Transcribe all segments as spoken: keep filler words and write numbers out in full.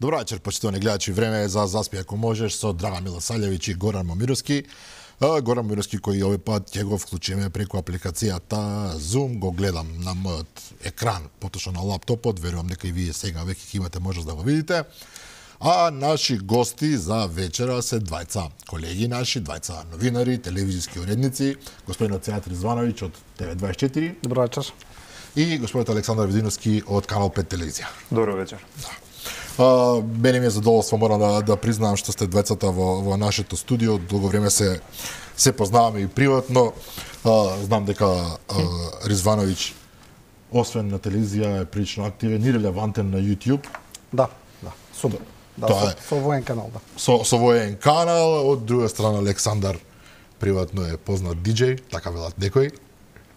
Добро вечер, почитувани гледачи. Време е за заспи ако можеш со Драга Милосављевиќ и Горан Момировски. Горан Момировски кој овој пат ќе го вклучиме преку апликацијата Zoom, го гледам на мојот екран, поточно на лаптопот, верувам дека и вие сега веќе ќе имате можност да го видите. А наши гости за вечера се двајца колеги наши, двајца новинари, телевизиски уредници, господинот Сејат Ризвановиќ од Т В дваесет и четири. Добро вечер. И господинот Александар Видиновски од Канал пет телевизија. Добро вечер. Да. Uh, мене ми е задоволство, морам да, да признавам што сте двајцата во, во нашето студио. Долго време се се познаваме и приватно. Uh, знам дека uh, Ризвановиќ освен на телевизија е прилично активен и релевантен на YouTube. Да, да, супер. Да, Тоа со, е. со воен канал, да. Со, со воен канал, од друга страна Александар приватно е познат диџеј, така велат некои.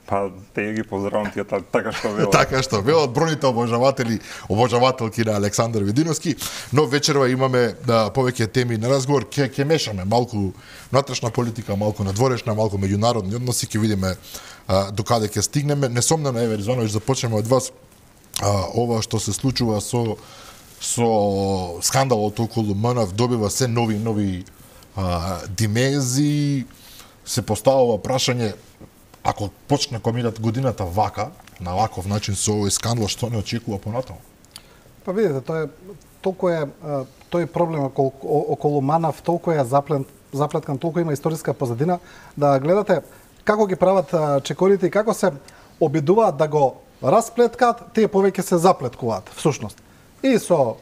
Па, те ги поздравам тие така што велат. Така што велат бројните обожаватели, обожавателки на Александар Видиновски, но вечерва имаме да, повеќе теми на разговор, ќе ќе мешаме малку внатрешна политика, малку надворешна, малку меѓународни односи, ќе видиме а, докаде ќе стигнеме. Несомнено, еве Ризвановиќ, започнеме од вас а, ова што се случува со со скандалот околу МНАВ добива се нови нови а, димензии, се поставува прашање ако почне комират годината вака, на ваков начин со овој скандал, што не очекува понатаму? Па видите, тоа е толку е тој проблем околу, околу МНАВ, толку е заплет, заплеткан, толку има историска позадина, да гледате како ги прават чекорите и како се обидуваат да го расплеткаат, тие повеќе се заплеткуваат всушност. И со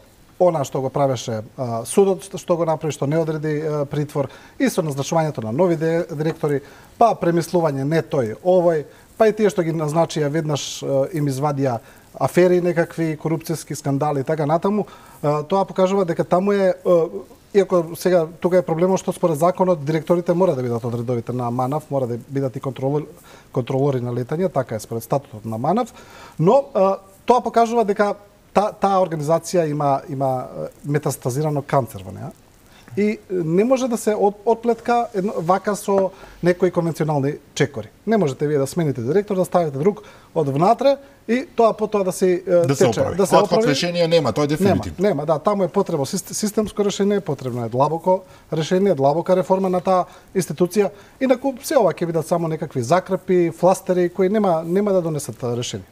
она што го правеше а, судот, што го направи, што не одреди а, притвор, и со назначувањето на нови директори, па премислување не тој овој, па и тие што ги назначија веднаш а, им извадија афери некакви, корупцијски скандали и така натаму, а, тоа покажува дека таму е, а, иако сега тука е проблемот што според законот директорите мора да бидат од редовите на МНАВ, мора да бидат и контролори, контролори на летање, така е според статутот на МНАВ, но а, тоа покажува дека Та, таа организација има има метастазирано канцер во неа и не може да се од, отплетка едно, вака со некои конвенционални чекори. Не можете вие да смените директор, да ставите друг од внатре и тоа потоа да се да се оправи. Да се оправи. решение нема, тоа е дефинитивно. Нема, нема, да, таму е потребно системско решение, потребно е длабоко решение, длабока реформа на таа институција. Инаку се ова ќе бидат само некакви закрепи, фластери кои нема нема да донесат решение.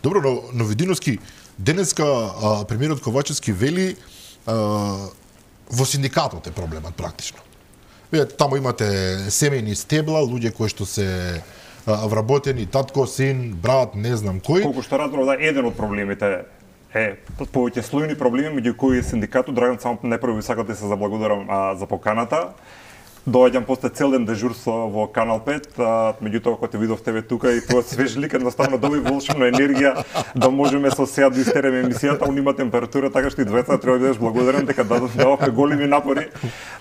Добро, но, но Видиновски, денеска а, премиерот Ковачевски вели а, во синдикатот е проблемот практично. Вие таму имате семејни стебла, луѓе кои што се а, вработени, татко, син, брат, не знам кој. Колку што разбрав, да, еден од проблемите е повеќе слојни проблеми меѓу кои синдикатот. Драган, само најпрво ви сакам да се заблагодарам а, за поканата. Доаѓам после цел ден дежурство во Канал пет, а, меѓутоа кога те видов тебе тука и тоа свеж лик едноставно доби волшебна енергија да можеме со сега да истереме емисијата, он има температура, така што и двајцата треба да бидеш благодарен дека дадовме големи напори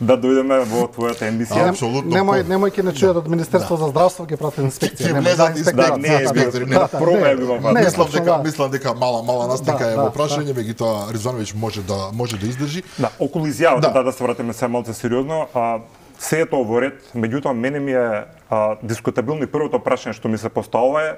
да дојдеме во твојата емисија. Апсолутно. Немој немој ќе не чујат од Министерство за здравство, ќе прати инспекција. Ќе влезат инспекторат, не е инспектори, не пробај би ва. Мислам дека мислам дека мала мала настика е во прашање, меѓутоа Ризвановиќ може да може да издржи. Да, околу изјавата да да се вратиме се малку сериозно, а се е тоа во ред, меѓутоа мене ми е а, дискутабилно и првото прашање што ми се поставува е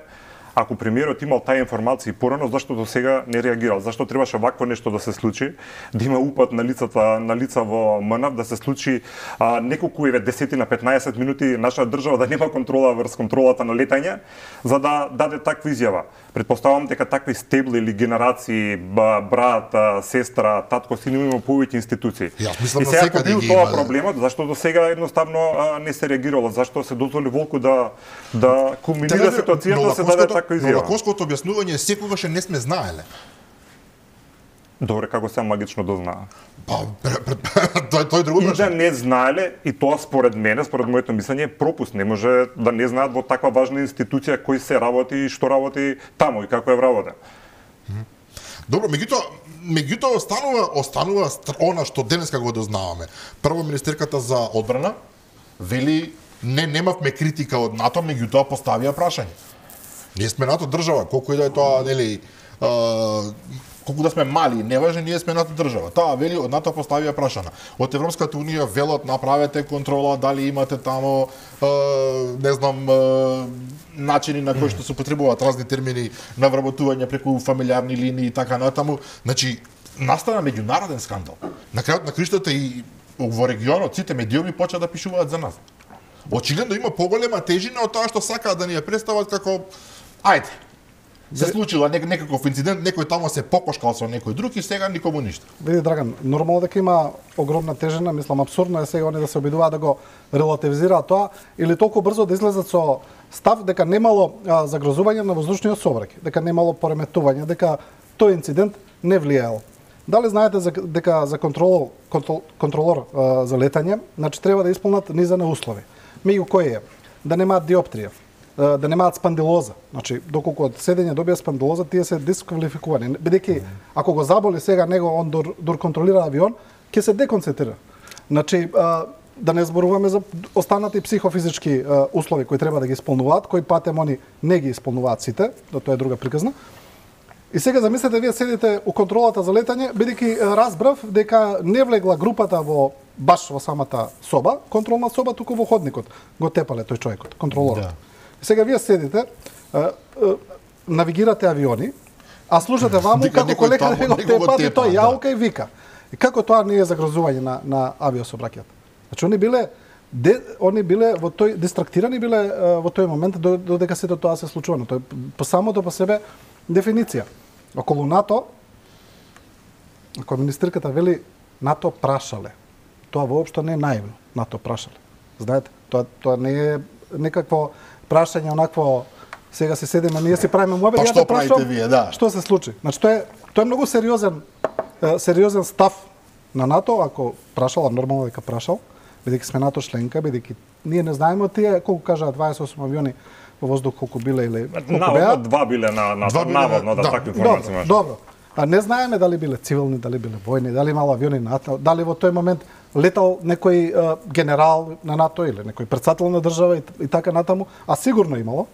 ако премиерот имал таа информација порано, зашто до сега не реагирал? Зашто требаше вакво нешто да се случи? Да има упад на лицата на лица во МНАВ, да се случи а, неколку еве десет на петнаесет минути наша држава да нема контрола врз контролата на летање, за да даде таква изјава. Предпоставувам дека такви стебли или генерации, брат, сестра, татко, син има повеќе институции. Јас мислам и сега секаде бил ги тоа има, проблемот, зашто до сега едноставно а, не се реагирало, зашто се дозволи волку да да кулминира ситуацијата, да се даде таква изјава. Но лакоското објаснување секогаш не сме знаеле. Добре, како се магично дознаа. Па, тој тој друго И да прашање. не знаеле, и тоа според мене, според моето мислење, е пропуст. Не може да не знаат во таква важна институција кој се работи и што работи таму и како е вработен. Добро, меѓутоа, меѓутоа останува останува она што денеска го дознаваме. Прво министерката за одбрана вели не немавме критика од НАТО, меѓутоа поставија прашање. Ние сме НАТО држава, колку и да е тоа, нели, а, колку да сме мали, неважно, ние сме НАТО држава. Таа вели од НАТО поставија прашана. Од Европската унија велот направете контрола дали имате тамо е, не знам е, начини на кои што се потребуваат разни термини на вработување преку фамилиарни линии и така натаму. Значи настана меѓународен скандал. На крајот на криштата и во регионот сите медиуми почаа да пишуваат за нас. Очигледно има поголема тежина од тоа што сакаат да ни ја представат како ајде. Се случила нек некаков инцидент, некој тамо се покошкал со некој друг и сега никому ништо. Види Драган, нормално дека има огромна тежина, мислам апсурдно е сега они да се обидуваат да го релативизираат тоа или толку брзо да излезат со став дека немало а, загрозување на воздушниот сообраќај, дека немало пореметување, дека тој инцидент не влијаел. Дали знаете за, дека за контрол, контрол, контролор а, за летање, значи треба да исполнат низа на услови. Меѓу кои е да немаат диоптрија, да немаат спандилоза. Значи, доколку од седење добија спандилоза, тие се дисквалификувани. Бидејќи, ако го заболи сега него, он дур, дур контролира авион, ќе се деконцентрира. Значи, а, да не зборуваме за останати психофизички а, услови кои треба да ги исполнуваат, кои патем они не ги исполнуваат сите, да тоа е друга приказна. И сега замислете, вие седите у контролата за летање, бидејќи разбрав дека не влегла групата во баш во самата соба, контролна соба, туку во ходникот. Го тепале тој човекот, контролорот. Да. Сега вие седите, а, а, навигирате авиони, а слушате ваму како колекта него тепат и тој јаука и вика. И како тоа не е загрозување на на авиособраќајот? Значи они биле де, они биле во тој дистрактирани биле а, во тој момент додека сето тоа се случувано. Тоа по самото по себе дефиниција. Околу НАТО, ако министерката вели НАТО прашале, тоа воопшто не е наивно. НАТО прашале. Знаете, тоа тоа не е некакво прашање онакво сега се седиме, ние си правиме муабет, па, ја што да прашам, правите вие, да. Што се случи? Значи тоа е тоа е многу сериозен сериозен став на НАТО, ако прашала нормално дека прашал, бидејќи сме НАТО членка, бидејќи ние не знаеме од тие колку кажа дваесет и осум авиони во воздух колку биле или колку беа. Два биле на на наводно да, да такви информации имаш. Добро. А не знаеме дали биле цивилни, дали биле војни, дали имало авиони на НАТО, дали во тој момент летал некој а, генерал на НАТО или некој председател на држава и, и така натаму, а сигурно имало.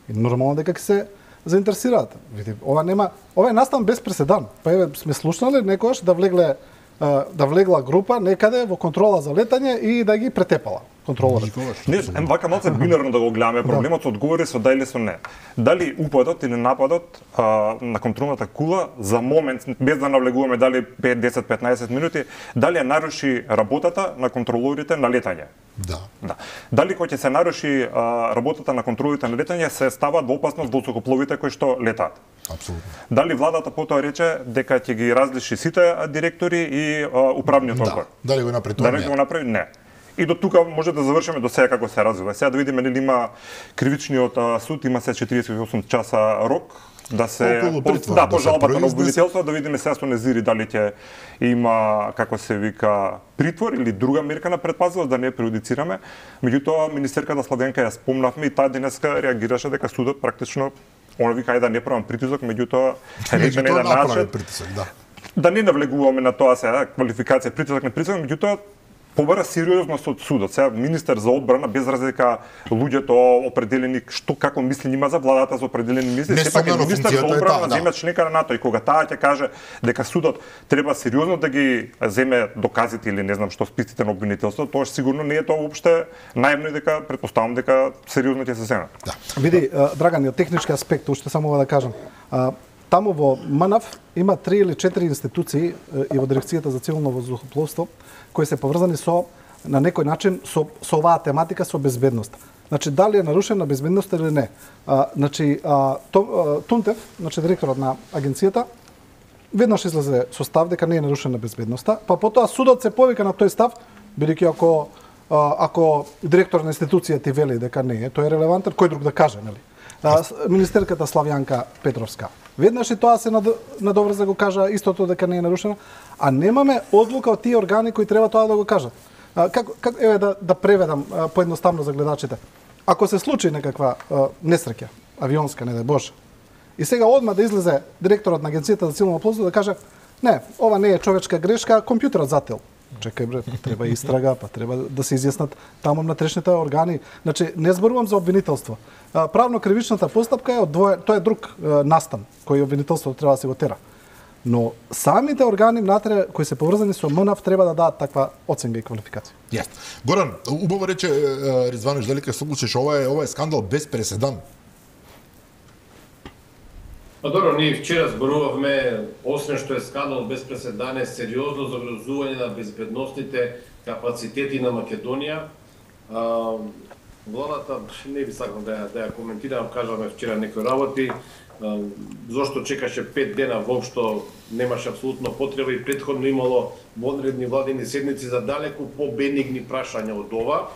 И нормално дека ќе се заинтересираат. Види, ова нема, ова е настан без преседан. Па еве сме слушнали некојаш да влегле а, да влегла група некаде во контрола за летање и да ги претепала контролорот. Не, вака малце бинарно да го гледаме проблемот со одговори со да или со не. Дали упадот или нападот а, на контролната кула за момент, без да навлегуваме дали пет, десет, петнаесет минути, дали ја наруши работата на контролорите на летање? Да. Да. Дали кога ќе се наруши а, работата на контролите на летање, се стават во опасност воздухопловите кои што летаат? Апсолутно. Дали владата потоа рече дека ќе ги различи сите директори и а, управниот одбор? Да. Дали го направи тоа? Дали го направи? Не. И до тука може да завршиме до сега како се развива. Сега да видиме нели има кривичниот суд, има се четириесет и осум часа рок да се притвор, да, да по жалбата се на обвинителство, да видиме сега со Незири дали ќе има, како се вика, притвор или друга мерка на претпазливост, да не преюдицираме. Меѓутоа министерката Славјанка ја спомнавме и таа денеска реагираше дека судот практично она вика ајде да не правам притисок, меѓутоа рече на еден начин притисок, да. Да не навлегуваме на тоа сега квалификација притисок не притисок, меѓутоа побара сериозност од судот. Сега министер за одбрана без разлика луѓето определени што како мисли има за владата за определени мисли, сепак е министер за одбрана на земја членка на НАТО и кога таа ќе каже дека судот треба сериозно да ги земе доказите или не знам што списите на обвинителството, тоа сигурно не е тоа воопште наивно и дека претпоставам дека сериозно ќе се земе. Да. Види, Драган, од технички аспект уште само да кажам. Таму во МНАВ има три или четири институции и во Дирекцијата за цивилно воздухопловство кои се поврзани со на некој начин со со оваа тематика со безбедност. Значи дали е нарушена безбедноста или не. А, значи а, то, а, Тунтев, значи директорот на агенцијата, веднаш излезе со став дека не е нарушена безбедноста, па потоа судот се повика на тој став, бидејќи ако а, ако директор на институција ти вели дека не е, тој е релевантен, кој друг да каже, нели? А, министерката Славјанка Петровска. Веднаш и тоа се надоврза да го кажа истото дека не е нарушено, а немаме одлука од тие органи кои треба тоа да го кажат. А, како, како еве да да преведам а, поедноставно за гледачите. Ако се случи некаква а, несреќа, авионска, не дај Боже, и сега одма да излезе директорот на агенцијата за цивилно воздухопловство да каже: "Не, ова не е човечка грешка, компјутерот зател." Чекај бре, треба истрага, па треба да се изјаснат таму внатрешните органи. Значи не зборувам за обвинителство. Правно-кривичната постапка е одвоен, тоа е друг настан кој обвинителството треба да се го тера. Но самите органи внатре кои се поврзани со МНАВ треба да дадат таква оценка и квалификација. Јас. Горан, убаво рече Ризванов дека се случиш, ова е ова е скандал без преседан. Па добро, ние вчера зборувавме, освен што е скандал без преседане, сериозно загрозување на безбедносните капацитети на Македонија. А, владата, не би сакал да ја, да ја коментирам, кажаме вчера некои работи, а, зошто чекаше пет дена, воопшто немаше апсолутно потреба и претходно имало вонредни владени седници за далеку по-бенигни прашања од ова.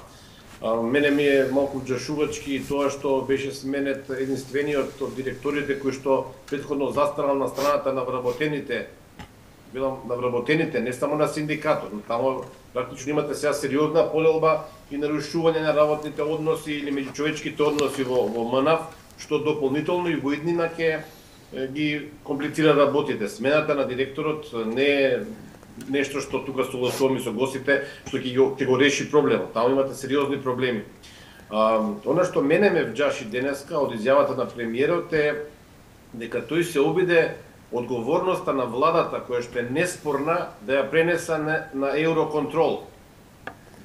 А, мене ми е малку џашувачки тоа што беше сменет единствениот од директорите кои што претходно застанал на страната на вработените, билам на вработените, не само на синдикатот, но тамо практично имате сега сериозна полелба и нарушување на работните односи или меѓучовечките односи во, во МНАФ, што дополнително и во иднина ќе ги комплицира работите. Смената на директорот не е нешто што тука согласувам и со гостите, што ќе го, ќе го реши проблемот. Таму имате сериозни проблеми. А, она што мене ме вџаши денеска од изјавата на премиерот е дека тој се обиде одговорноста на владата, која што е неспорна, да ја пренеса на, на Евроконтрол.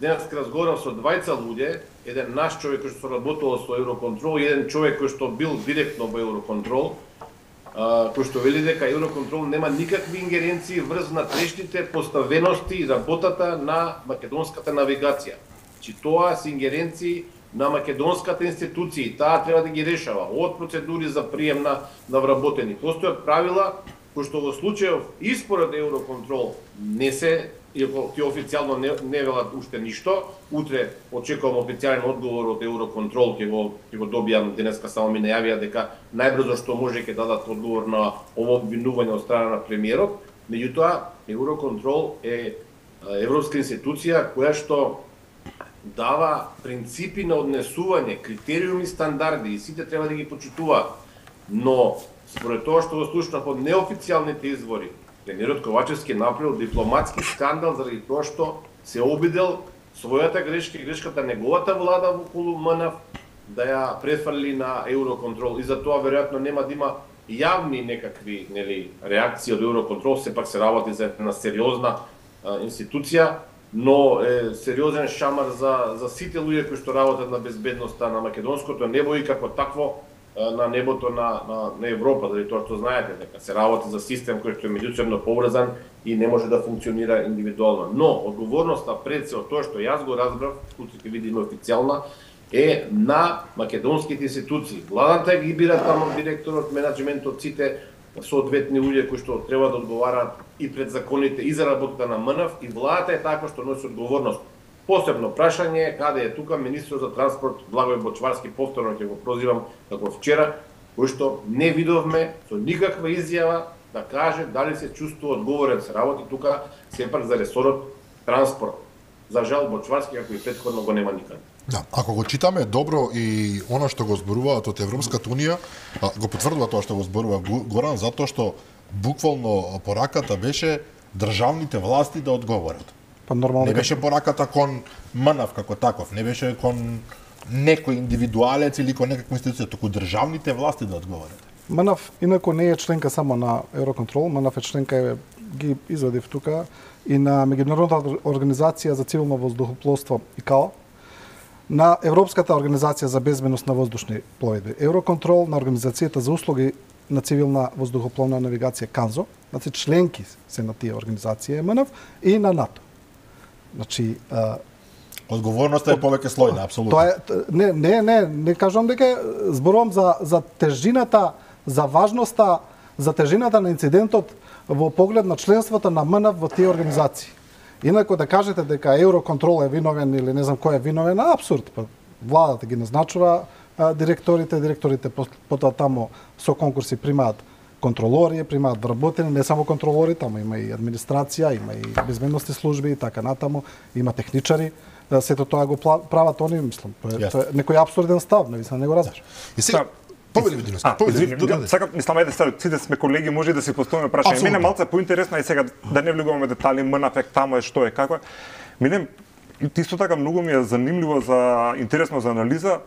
Денеска разговарав со двајца луѓе, еден наш човек кој што работел со Евроконтрол и еден човек кој што бил директно во Евроконтрол, кој што вели дека Евроконтрол нема никакви ингеренции врз натрешните поставености и работата на македонската навигација. Чи тоа се ингеренции на македонската институција и таа треба да ги решава од процедури за прием на, на вработени. Постојат правила кои што во случајов и според Евроконтрол не се, иако ти официјално не, не велат уште ништо, утре очекувам официјален одговор од Евроконтрол, ќе го, ќе го добијам, денеска само ми најавија дека најбрзо што може ќе дадат одговор на ово обвинување од страна на премиерот. Меѓутоа, Евроконтрол е европска институција која што дава принципи на однесување, критериуми, стандарди и сите треба да ги почитуваат. Но според тоа што го слушнав од неофицијалните извори, премиерот Ковачевски направил дипломатски скандал заради тоа што се обидел својата грешка и грешката неговата влада во околу МНАФ да ја префрли на Евроконтрол и за тоа веројатно нема да има јавни некакви, нели, реакции од Евроконтрол, сепак се работи за една сериозна а, институција, но е сериозен шамар за за сите луѓе кои што работат на безбедноста на македонското небо и како такво на небото на, на, на Европа, заради тоа што знаете дека се работи за систем кој што е меѓусебно поврзан и не може да функционира индивидуално. Но одговорноста пред се од тоа што јас го разбрав, утре ќе видиме официјална, е на македонските институции. Владата ги бира таму директорот, менаџментот, сите соодветни луѓе кои што треба да одговараат и пред законите и за работата на МНАФ, и владата е така што носи одговорност. Посебно прашање е каде е тука министрот за транспорт Благој Бочварски, повторно ќе го прозивам како вчера, кој што не видовме со никаква изјава да каже дали се чувствува одговорен се работи тука сепак за ресорот транспорт. За жал Бочварски како и претходно го нема никаде. Да, ако го читаме добро и она што го зборуваат од Европската унија, го потврдува тоа што го зборува Горан, затоа што буквално пораката беше државните власти да одговорат. Па нормално не беше пораката кон МНАФ како таков, не беше кон некој индивидуалец или кон некаква институција, туку државните власти да одговорат. МНАФ инаку не е членка само на Евроконтрол, МНАФ е членка, ги извадив тука, и на Меѓународната организација за цивилно воздухопловство ИКАО, на Европската организација за безбедност на воздушни пловидби Евроконтрол, на Организацијата за услуги на цивилна воздухопловна навигација КАНЗО, значи членки се на тие организации МНАФ и на НАТО. Значи, а, одговорноста е повеќе слојна, апсолутно. Тоа е не не не не кажувам дека зборувам за за тежината, за важноста, за тежината на инцидентот во поглед на членството на МНАФ во тие организации. Инаку да кажете дека Евроконтрол е виновен или не знам кој е виновен, апсурд. Владата ги назначува а, директорите, директорите потоа тамо со конкурси примаат контролори, примаат вработени, не само контролори, тамо има и администрација, има и безбедностни служби и така натаму, има техничари, сето тоа го прават они, мислам, тоа е некој апсурден став, не не го разбираш. И сега повели Видиновски, повели. Сакам, мислам, ајде сега, сите сме колеги, може да си поставиме прашање. Мене малце поинтересно и сега да не влегуваме детали, МНАФ тамо е што е како е. Мене исто така многу ми е занимливо за интересно за анализа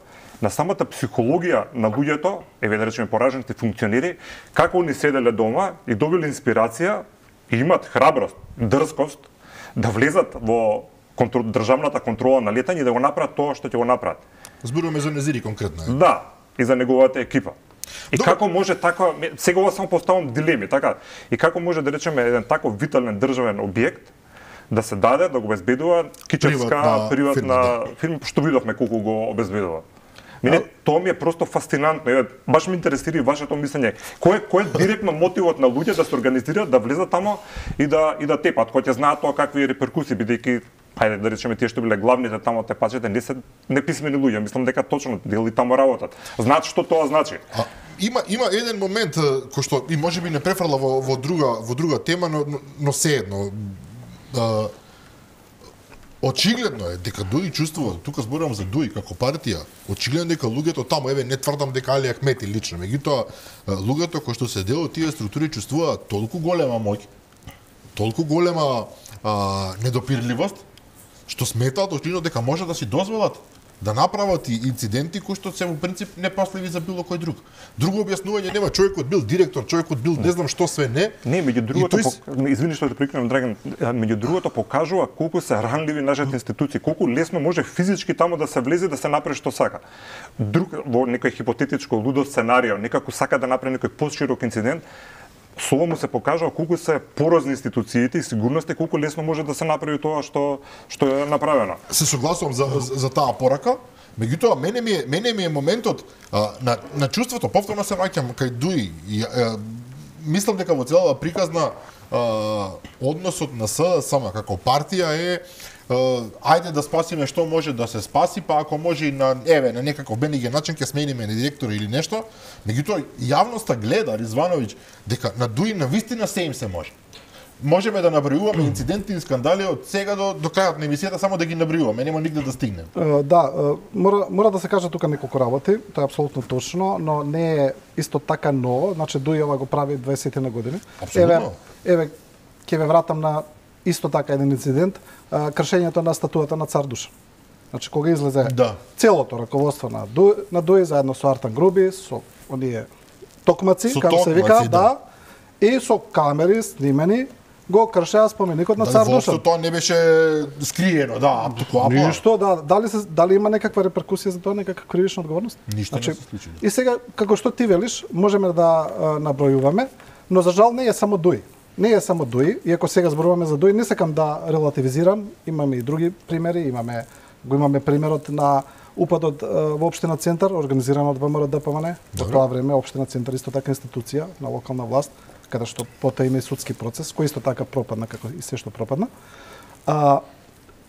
на самата психологија на луѓето, еве да речеме поражените функционери, како они седеле дома и добили инспирација и имат храброст, дрскост да влезат во контрол, државната контрола на летање и да го направат тоа што ќе го направат. Зборуваме за Незири конкретно. Е. Да, и за неговата екипа. И Добре. Како може така, сега ова само поставам дилеми, така, и како може да речеме еден таков витален државен објект да се даде, да го обезбедува кичевска приватна, приватна фирма, фирма, што видовме колку го обезбедува. Мене тоа ми е просто фасцинантно. Баш ме интересира и вашето мислење. Кој кој е директно мотивот на луѓе да се организираат, да влезат тамо и да и да тепат, кој ќе знаат тоа какви реперкусии, бидејќи ајде да речеме тие што биле главните тамо тепачите не се неписмени луѓе. Мислам дека точно дели тамо работат. Знаат што тоа значи. А, има има еден момент кој што и можеби не префрла во во друга во друга тема, но но сеедно. Да, очигледно е дека Дуи чувствува, тука зборувам за Дуи како партија, очигледно дека луѓето таму, еве не тврдам дека Али Ахмети лично, меѓутоа луѓето кои што се дел од тие структури чувствуваат толку голема моќ, толку голема а, недопирливост, што сметаат очигледно дека може да си дозволат да направат и инциденти кои што се во принцип непасливи за било кој друг. Друго објаснување нема, човекот бил директор, човекот бил не знам што све не. Не, меѓу другото, тој... по... извини што те прекинам, Драган, меѓу другото покажува колку се ранливи нашите институции, колку лесно може физички таму да се влезе да се направи што сака. Друг во некој хипотетичко лудо сценарио, некако сака да направи некој поширок инцидент, Соло му се покажува колку се порозни институциите и сигурноста, колку лесно може да се направи тоа што што е направено. Се согласувам за, за, за таа порака, меѓутоа мене ми е мене ми е моментот а, на на чувството, повторно се враќам кај Дуи и а, мислам дека во целава приказна а, односот на СДСМ како партија е ајде да спасиме што може да се спаси, па ако може и на еве на некаков бениген начин ќе смениме на директор или нешто. Меѓутоа јавноста гледа Ризвановиќ дека на Дуи на вистина се им се може. Можеме да набројуваме инциденти и скандали од сега до до крајот на емисијата, само да ги набројуваме, нема нигде да стигнем. Uh, да, uh, мора мора да се каже тука неколку работи, тоа е апсолутно точно, но не е исто така ново, значи Дуи ова го прави дваесет на години. Апсолутно. Еве, еве ќе ве вратам на исто така еден инцидент, а, кршењето на статуата на Цар Душан. Значи кога излезе да. целото раководство на Дуи, на Дуи заедно со Артан Груби, со оние токмаци, со како се вика, да. да, и со камери снимени го кршеа споменикот на Цар Душан. Дали тоа не беше скриено, да, туку Ништо, да, дали се дали има некаква реперкусија за тоа, некаква кривична одговорност? Ништо значи, не се случи. И сега како што ти велиш, можеме да а, набројуваме, но за жал не е само Дуи. Не е само Дуи, иако сега зборуваме за Дуи, не сакам да релативизирам, имаме и други примери, имаме го имаме примерот на упадот во општина Центар, организиран од ВМРО Д П М Н. Во тоа време општина Центар исто така институција на локална власт, каде што потоа има и судски процес, кој исто така пропадна како и се што пропадна. А,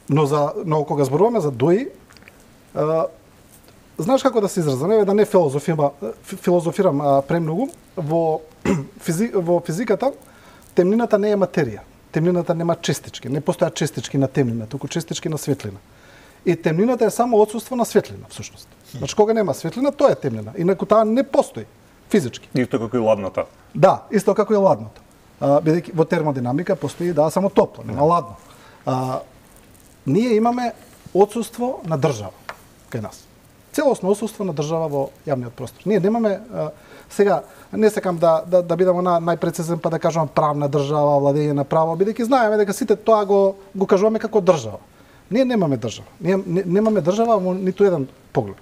но за но кога зборуваме за Дуи, а, знаеш како да се изразам, еве да не филозофирам, филозофирам а, премногу, во физи, во физиката темнината не е материја. Темнината нема честички, не постојат честички на темнина, туку честички на светлина. И темнината е само отсуство на светлина, всушност. Значи кога нема светлина, тоа е темнина. Инаку таа не постои физички. Исто како и ладната. Да, исто како и ладното. А, бидејќи во термодинамика постои да само топло, нема ладно. А, ние имаме отсуство на држава кај нас. Целосно отсуство на држава во јавниот простор. Ние немаме а, сега не сакам да да да бидам на најпрецизен па да кажувам правна држава, владење на право, бидејќи знаеме дека сите тоа го го кажуваме како држава. Ние немаме држава. Ние не, немаме држава во ниту еден поглед.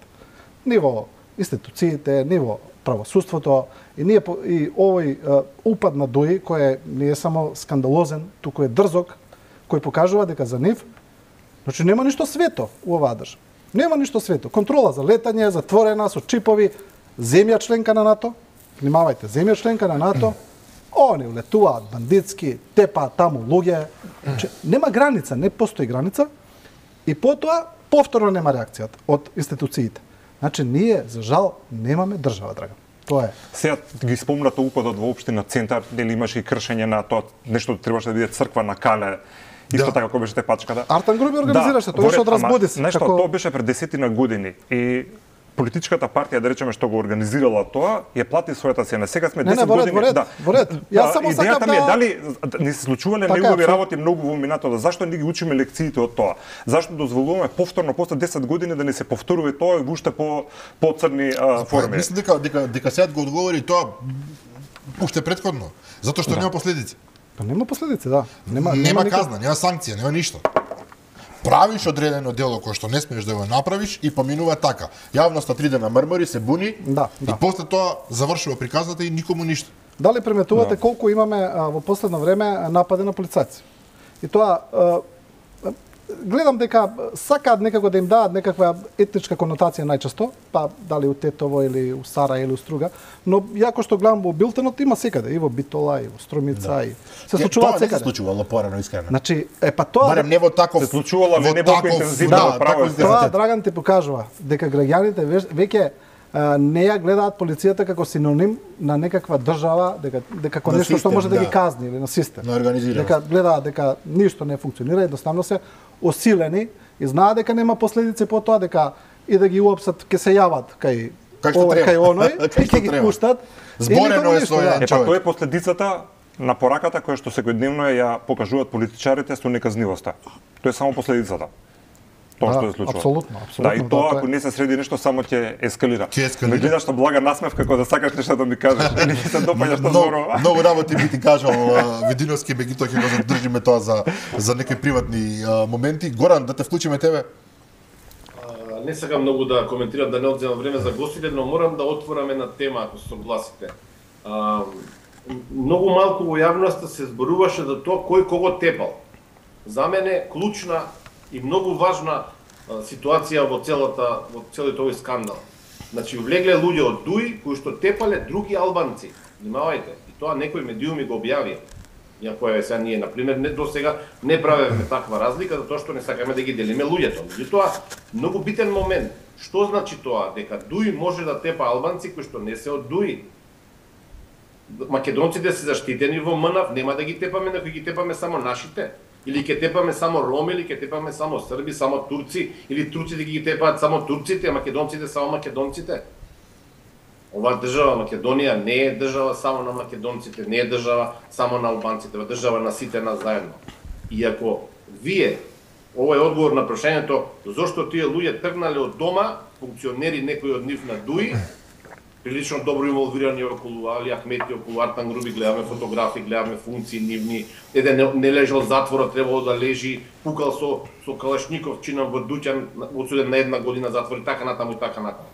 Ни во институциите, ни во правосудството и ние и овој uh, упад на Дуи кој е не е само скандалозен, туку е дрзок, кој покажува дека за нив значи нема ништо свето у оваа држава. Нема ништо свето. Контрола за летање, затворена со чипови, земја членка на НАТО. Внимавајте, земја членка на НАТО. Они улетуваат бандитски, тепаат таму луѓе. Че, нема граница, не постои граница. И потоа повторно нема реакцијата од институциите. Значи ние за жал немаме држава, Драган. Тоа е. Сега ги спомнато упадот во општина Центар, дали имаше и кршење на тоа нешто требаше да биде црква на Кале. Исто да. така како беше тепачката. Артан Груби организираше, да, тоа беше од разбуди се. Нешто, како... тоа беше пред десетина години и политичката партија, да речеме, што го организирала тоа, ја плати својата цена. Сега сме десет не, не, години. Во ред, да. во ред. Јас само сакам да... ми е дали не се случувале така, негови абсолютно. работи многу во минатото, зашто не ги учиме лекциите од тоа? Зашто дозволуваме повторно после десет години да не се повторува тоа и уште по по црни а, форми? Мислам дека дека дека сега го одговори тоа уште претходно, затоа што да. нема последици. Па нема последици, да. Нема нема нема казна, нема санкција, нема ништо. правиш одредено дело кое што не смееш да го направиш и поминува така. Јавноста три дена мрмори, се буни Да, и да. после тоа завршува приказната и никому ништо. Дали приметувате да. колку имаме а, во последно време напади на полицајци? И тоа а, гледам дека сакаат некако да им дадат некаква етничка конотација најчесто, па дали у Тетово или у Сара или у Струга, но јако што гледам во билтенот има секаде, и во Битола, и во Струмица, да. и се случуваат секаде. Тоа не се случувало порано искрено. Значи, е па тоа Барем не во таков се случувало во не таков, толку интензивно да, во право. таков Тоа Драган ти покажува дека граѓаните веќе- веќе а, не ја гледаат полицијата како синоним на некаква држава, дека дека како На нешто што систем, може да, да. ги казни или на систем. На организираност. Дека гледаат дека ништо не функционира, едноставно се осилени и знаат дека нема последици по тоа, дека и да ги уапсат ќе се јават кај Кај што овој, треба. кај оној, Кај и што ќе ги треба. пуштат. и Зборено никому е ништо, со да. еден Е, па човек. тоа е последицата на пораката која што секојдневно ја покажуваат политичарите со неказнивоста. Тоа е само последицата. Тоа Да, што се случува. апсолутно, апсолутно, Да, и да, тоа тоа е. ако не се среди нешто само ќе ескалира. Ќе ескалира. Ме гледаш на блага насмев како да сакаш нешто да ми кажеш или ќе се допаѓа што Многу, зборува. многу работи би ти кажал а, Видиновски, меѓутоа ќе го задржиме тоа за за некои приватни а, моменти. Горан, да те вклучиме тебе. А, Не сакам многу да коментирам, да не одземам време за гостите, но морам да отворам една тема, ако се согласите. А, многу малку во јавноста се зборуваше за тоа кој кого тепал. За мене клучна и многу важна а, ситуација во целата во целиот овој скандал. Значи влегле луѓе од ДУИ кои што тепале други албанци. Внимавајте, и тоа некои медиуми го објавија. Иако е сега ние, например, не, до сега не правиме таква разлика, затоа што не сакаме да ги делиме луѓето. Меѓутоа, многу битен момент. Што значи тоа? Дека ДУИ може да тепа албанци кои што не се од ДУИ. Македонците се заштитени во МНАФ, нема да ги тепаме, но ги тепаме само нашите. Или ќе тепаме само роми, или ќе тепаме само срби, само турци, или турците ги тепаат само турците, а македонците само македонците. Ова држава Македонија не е држава само на македонците, не е држава само на албанците, е држава на сите нас заедно. И ако вие, ова е одговор на прашањето, зошто тие луѓе тргнале од дома, функционери некои од нив на ДУИ, прилично добро инволвирани околу Али Ахмети, околу Артан Груби, гледаме фотографии, гледаме функции нивни, еден не, не лежал затвора, требало да лежи, пукал со, со Калашников, чинам во Дуќан, одсуден на една година затвор и така натаму и така натаму.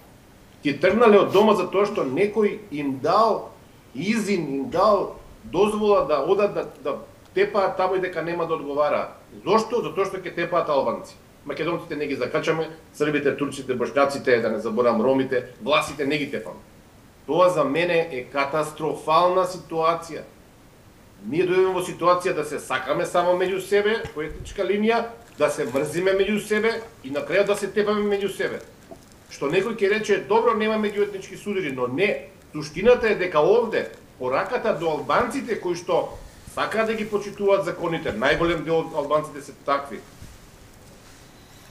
Ти тргнале од дома за тоа што некој им дал изин, им дал дозвола да одат да, да тепаат таму и дека нема да одговараат. Зошто? Затоа што ќе тепаат албанци. Македонците не ги закачаме, србите, турците, бошњаците, да не заборам ромите, власите не ги тепаме. Тоа за мене е катастрофална ситуација. Ние дојдеме во ситуација да се сакаме само меѓу себе, по етничка линија, да се мрзиме меѓу себе и на крајот да се тепаме меѓу себе. Што некој ќе рече, добро, нема меѓуетнички судири, но не. Суштината е дека овде, пораката до албанците кои што сакаат да ги почитуваат законите, најголем дел од албанците се такви.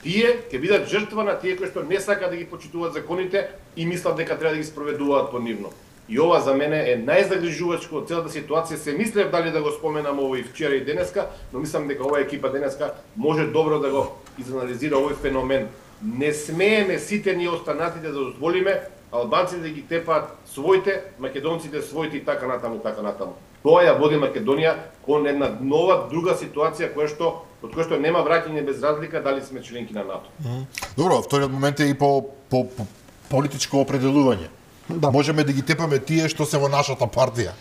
Тие ќе бидат жртва на тие кои што не сакаат да ги почитуваат законите и мислат дека треба да ги спроведуваат по нивно. И ова за мене е најзагрижувачко од целата ситуација. Се мислев дали да го споменам овој вчера и денеска, но мислам дека оваа екипа денеска може добро да го изанализира овој феномен. Не смееме сите ние останатите да дозволиме албанците да ги тепаат своите, македонците своите и така натаму, така натаму. Тоа ја води Македонија кон една нова, друга ситуација која што од која што нема враќање без разлика дали сме членки на НАТО. Добро, вториот момент е и по, по, по политичко определување. Да. Можеме да ги тепаме тие што се во нашата партија.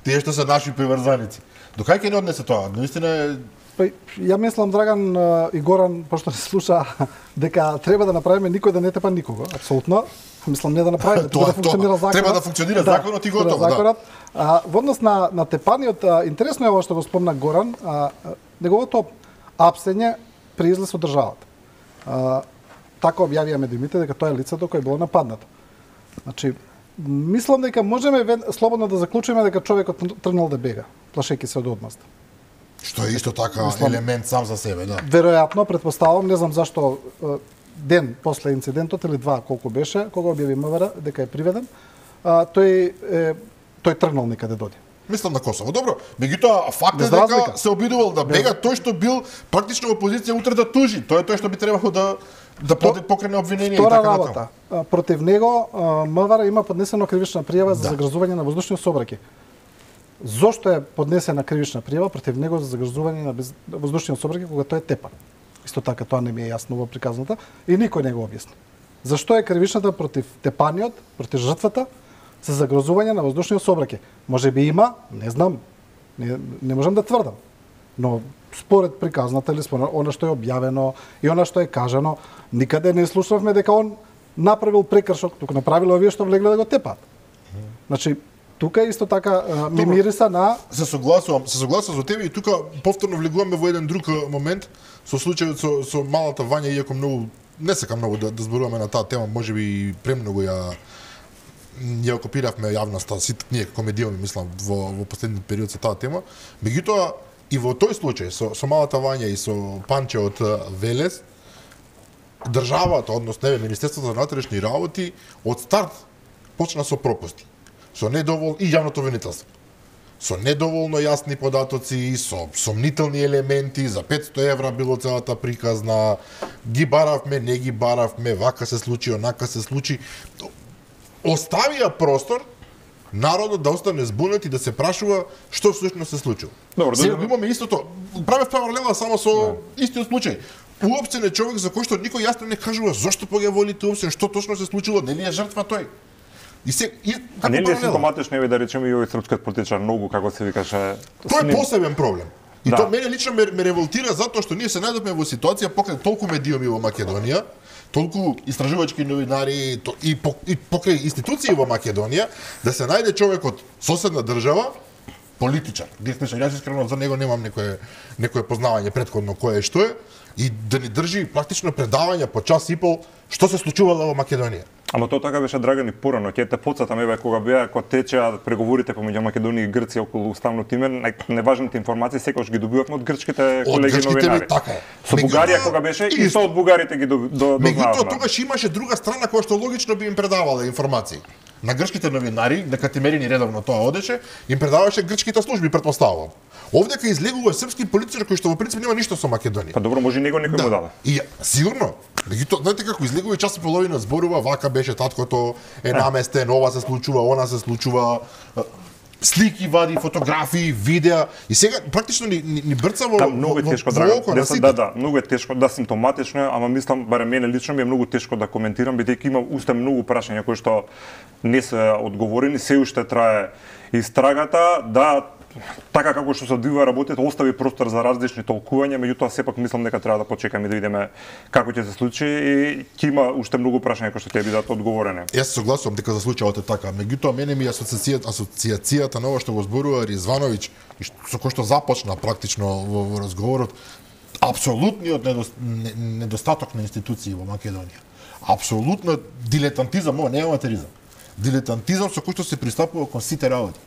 Тие што се наши приврзаници. До кај ќе не однесе тоа? Наистина е... Па, ја мислам, Драган а, и Горан, пошто не слуша, дека треба да направиме никој да не тепа никого. Апсолутно. Мислам, не да направиме, Тоа- да функционира тоа- законот. треба да функционира законот и треба готово, да. законот. А, во однос на, на тепаниот, а, интересно е ова што го спомна Горан, а, а, неговото апсење при излез од државата. А, така објавија медиумите дека тоа е лицето кое било нападнато. Значи, мислам дека можеме вен- слободно да заклучиме дека човекот тргнал да бега, плашејќи се од одмазда. Што е исто така Мислам- елемент сам за себе, да. Веројатно, претпоставувам, не знам зашто е, ден после инцидентот или два колку беше, кога објави МВР дека е приведен, а, тој е, тој тргнал некаде доди. Мислам на Косово. Добро, меѓутоа факт е Без дека разлика. се обидувал да бега тој што бил практично во позиција утре да тужи. Тоа е тој што би требало да да поде покрене обвинение и Втора така работа. натаму. А, против него а, МВР има поднесено кривична пријава за Да. загрозување на воздушни сообраќај. Зошто е поднесена кривична пријава против него за загрозување на без... воздушниот сообраќај кога тој е тепан? Исто така тоа не ми е јасно во приказната и никој не го објасни. Зашто е кривичната против тепаниот, против жртвата за загрозување на воздушниот сообраќај? Може би има, не знам, не, не можам да тврдам. Но според приказната или според она што е објавено и она што е кажано, никаде не слушавме дека он направил прекршок, туку направило овие што влегле да го тепат. Значи, тука исто така ми мириса на се согласувам, се согласувам со тебе и тука повторно влегуваме во еден друг момент со случајот со, со малата Вања, иако многу не сакам многу да, да зборуваме на таа тема, можеби и премногу ја ја окупиравме јавноста, сите ние како медиуми, мислам, во во последниот период со таа тема. Меѓутоа и во тој случај со со малата Вања и со Панче од Велес, државата, односно неве Министерството за внатрешни работи од старт почна со пропусти. Со недоволно и јавното обвинителство. Со недоволно јасни податоци, со сомнителни елементи, за петсто евра било целата приказна, ги баравме, не ги баравме, вака се случи, онака се случи. Оставија простор народот да остане збунет и да се прашува што всушност се случило. Добро, сега да, имаме истото. Правев паралела само со да. Истиот случај. Уопште не човек за кој што никој јасно не кажува зошто па ги волите уопште, што точно се случило, нели е жртва тој. И се и а нели е симптоматично еве да речеме и овој српскиот политичар многу како се викаше. Тоа е посебен проблем. И да. Тоа мене лично ме, ме револтира затоа што ние се најдовме во ситуација покрај толку медиуми во Македонија, толку истражувачки новинари и, и покрај институции во Македонија, да се најде човек од соседна држава, политичар. Директно јас искрено за него немам некое некое познавање претходно кое е што е, и да ни држи практично предавање по час и пол што се случувало во Македонија. Ама тоа така беше Драган и порано, ќе те потсетам еве кога беа кога течеа преговорите помеѓу Македонија и Грција околу уставното име, неважните информации секогаш ги добивавме од грчките колеги од новинари. Така е. Со Бугарија кога беше и со од бугарите ги дознававме. Меѓутоа тогаш имаше друга страна која што логично би им предавала информации. На грчките новинари, дека Тимерини редовно тоа одеше, им предаваше грчките служби, претпоставувам. Овде кај излегува српски политичар кој што во принцип нема ништо со Македонија. Па добро, може и него некој да. му даде. И сигурно. Меѓутоа, знаете како излегува и час и половина зборува, вака беше таткото е наместен, ова се случува, она се случува, слики вади, фотографии, видеа и сега практично ни, ни, ни брца во, да, многу е тешко, во, Драган, во, во да, да, многу е тешко, да, симптоматично е, ама мислам, барем мене лично ми е многу тешко да коментирам, бидејќи има уште многу прашања кои што не се одговорени, се уште трае истрагата, да, така како што се одвива работите, остави простор за различни толкувања, меѓутоа сепак мислам дека треба да почекаме да видиме како ќе се случи и ќе има уште многу прашања кои што ќе бидат одговорени. Јас се согласувам дека за случајот е така, меѓутоа мене ми асоциацијата асоциацијата на ова што го зборува Ризвановиќ и со кој што започна практично во, во разговорот, апсолутниот недостаток на институции во Македонија. Апсолутно дилетантизам, ова не е аматеризам. Дилетантизам со кој што се пристапува кон сите работи.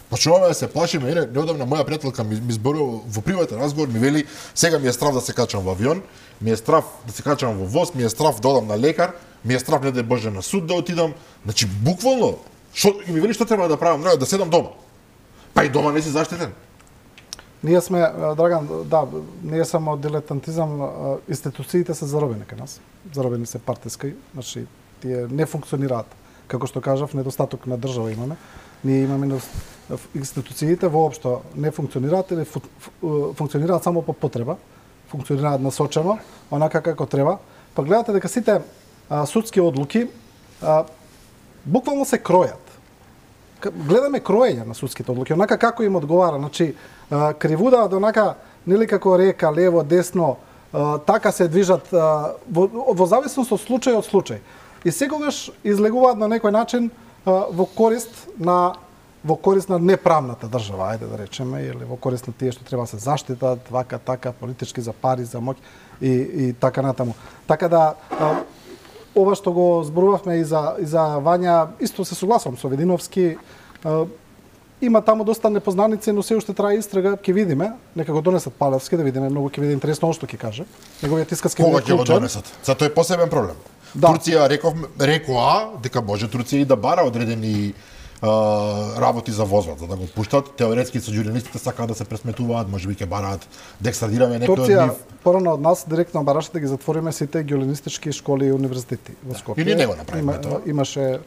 Почнуваме да се плашиме, ене, неодамна моја пријателка ми, ми зборува во приватен разговор, ми вели, сега ми е страв да се качам во авион, ми е страв да се качам во воз, ми е страв да одам на лекар, ми е страв не да Боже на суд да отидам. Значи буквално, шо, и ми вели што треба да правам, да седам дома. Па и дома не си заштитен. Ние сме, Драган, да, ние само дилетантизам, институциите се заробени кај нас. Заробени се партиски, значи тие не функционираат. Како што кажав, недостаток на држава имаме. Ние имаме институциите воопшто не функционираат или функционираат само по потреба, функционираат насочено, онака како треба. Па гледате дека сите а, судски одлуки а, буквално се кројат. Гледаме кроење на судските одлуки, онака како им одговара, значи а, кривуда до онака нели како река лево, десно, а, така се движат а, во, во зависност од случај од случај. И секогаш излегуваат на некој начин а, во корист на во корист на неправната држава, ајде да речеме, или во корист на тие што треба се заштитат, вака, така, политички за пари, за моќ и, и така натаму. Така да, а, ова што го зборувавме и за, и за Вања, исто се согласувам со Видиновски, а, има таму доста непознаници, но се уште трае истрага, ќе видиме, нека го донесат Палевски, да видиме, многу ќе биде интересно што ќе каже. Неговиот искаски кога ќе го донесат? Зато е посебен проблем. Да. Турција реков рекоа дека може Турција и да бара одредени Uh, работи за возот, за да го пуштат. Теоретски со журналистите сакаат да се пресметуваат, можеби ќе бараат да екстрадираме некој од нив. Турција порано од нас директно бараше да ги затвориме сите геолинистички школи и универзитети во Скопје. Или не го направиме Има, тоа. Имаше,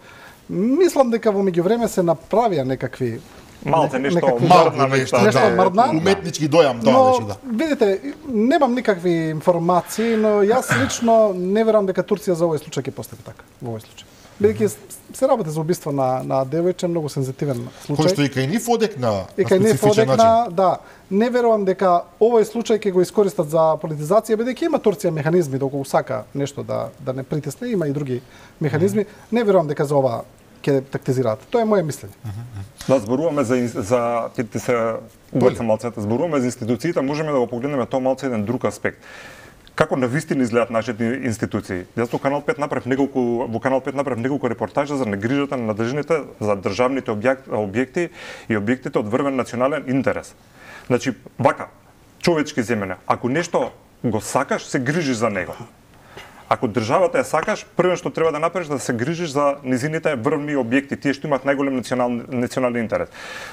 мислам дека во меѓувреме се направија некакви Малце нешто некакви- Малку мрдна, нешто, Нешто да, мрдна. уметнички дојам тоа Но, беше, да. видите, немам никакви информации, но јас лично не верувам дека Турција за овој случај ќе постапи така, во овој случај. Бидејќи се работи за убиство на на девојче, многу сензитивен случај. Кој што и кај нив одек на, И на кај не специфичен начин. подекна, да, не верувам дека овој случај ќе го искористат за политизација, бидејќи има Турција механизми доколку сака нешто да да не притисне, има и други механизми. Не верувам дека за ова ќе тактизираат. Тоа е моје мислење. Да, зборуваме за за ти, ти се убаца малцето, зборуваме за институциите, можеме да го погледнеме тоа малце еден друг аспект. Како навистина изгледаат нашите институции. Јас во Канал пет направив неколку во Канал пет направив неколку репортажи за негрижата на надржаните за државните објекти, објекти и објектите од врвен национален интерес. Значи, вака, човечки земјане, ако нешто го сакаш, се грижиш за него. Ако државата ја сакаш, прво што треба да направиш да се грижиш за низините врвни објекти, тие што имаат најголем национален национален интерес.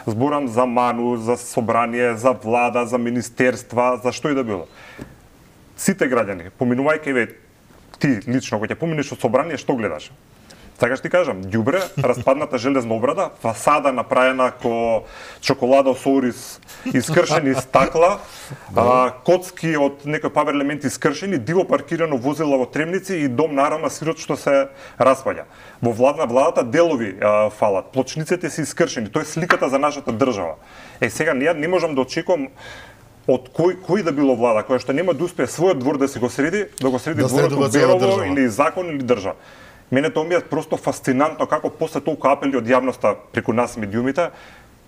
Зборам за МАНУ, за собрание, за влада, за министерства, за што и да било. Сите граѓани, поминувајќи ве ти лично, кога ќе поминеш од собрание, што гледаш? Така што ти кажам, ѓубре, распадната железна обрада, фасада направена ко чоколада со ориз, искршени стакла, а, коцки од некој павер елементи искршени, диво паркирано возила во Тремници и дом на Арама Сирот што се распаѓа. Во владна владата делови а, фалат, плочниците се искршени, тоа е сликата за нашата држава. Е сега ние не можам да очекувам од кој кој да било влада која што нема да успее својот двор да се го среди, да го среди Да дворот средува од цела Берово држава. или закон или држава. Мене тоа ми е просто фасцинантно како после толку апели од јавноста преку нас медиумите,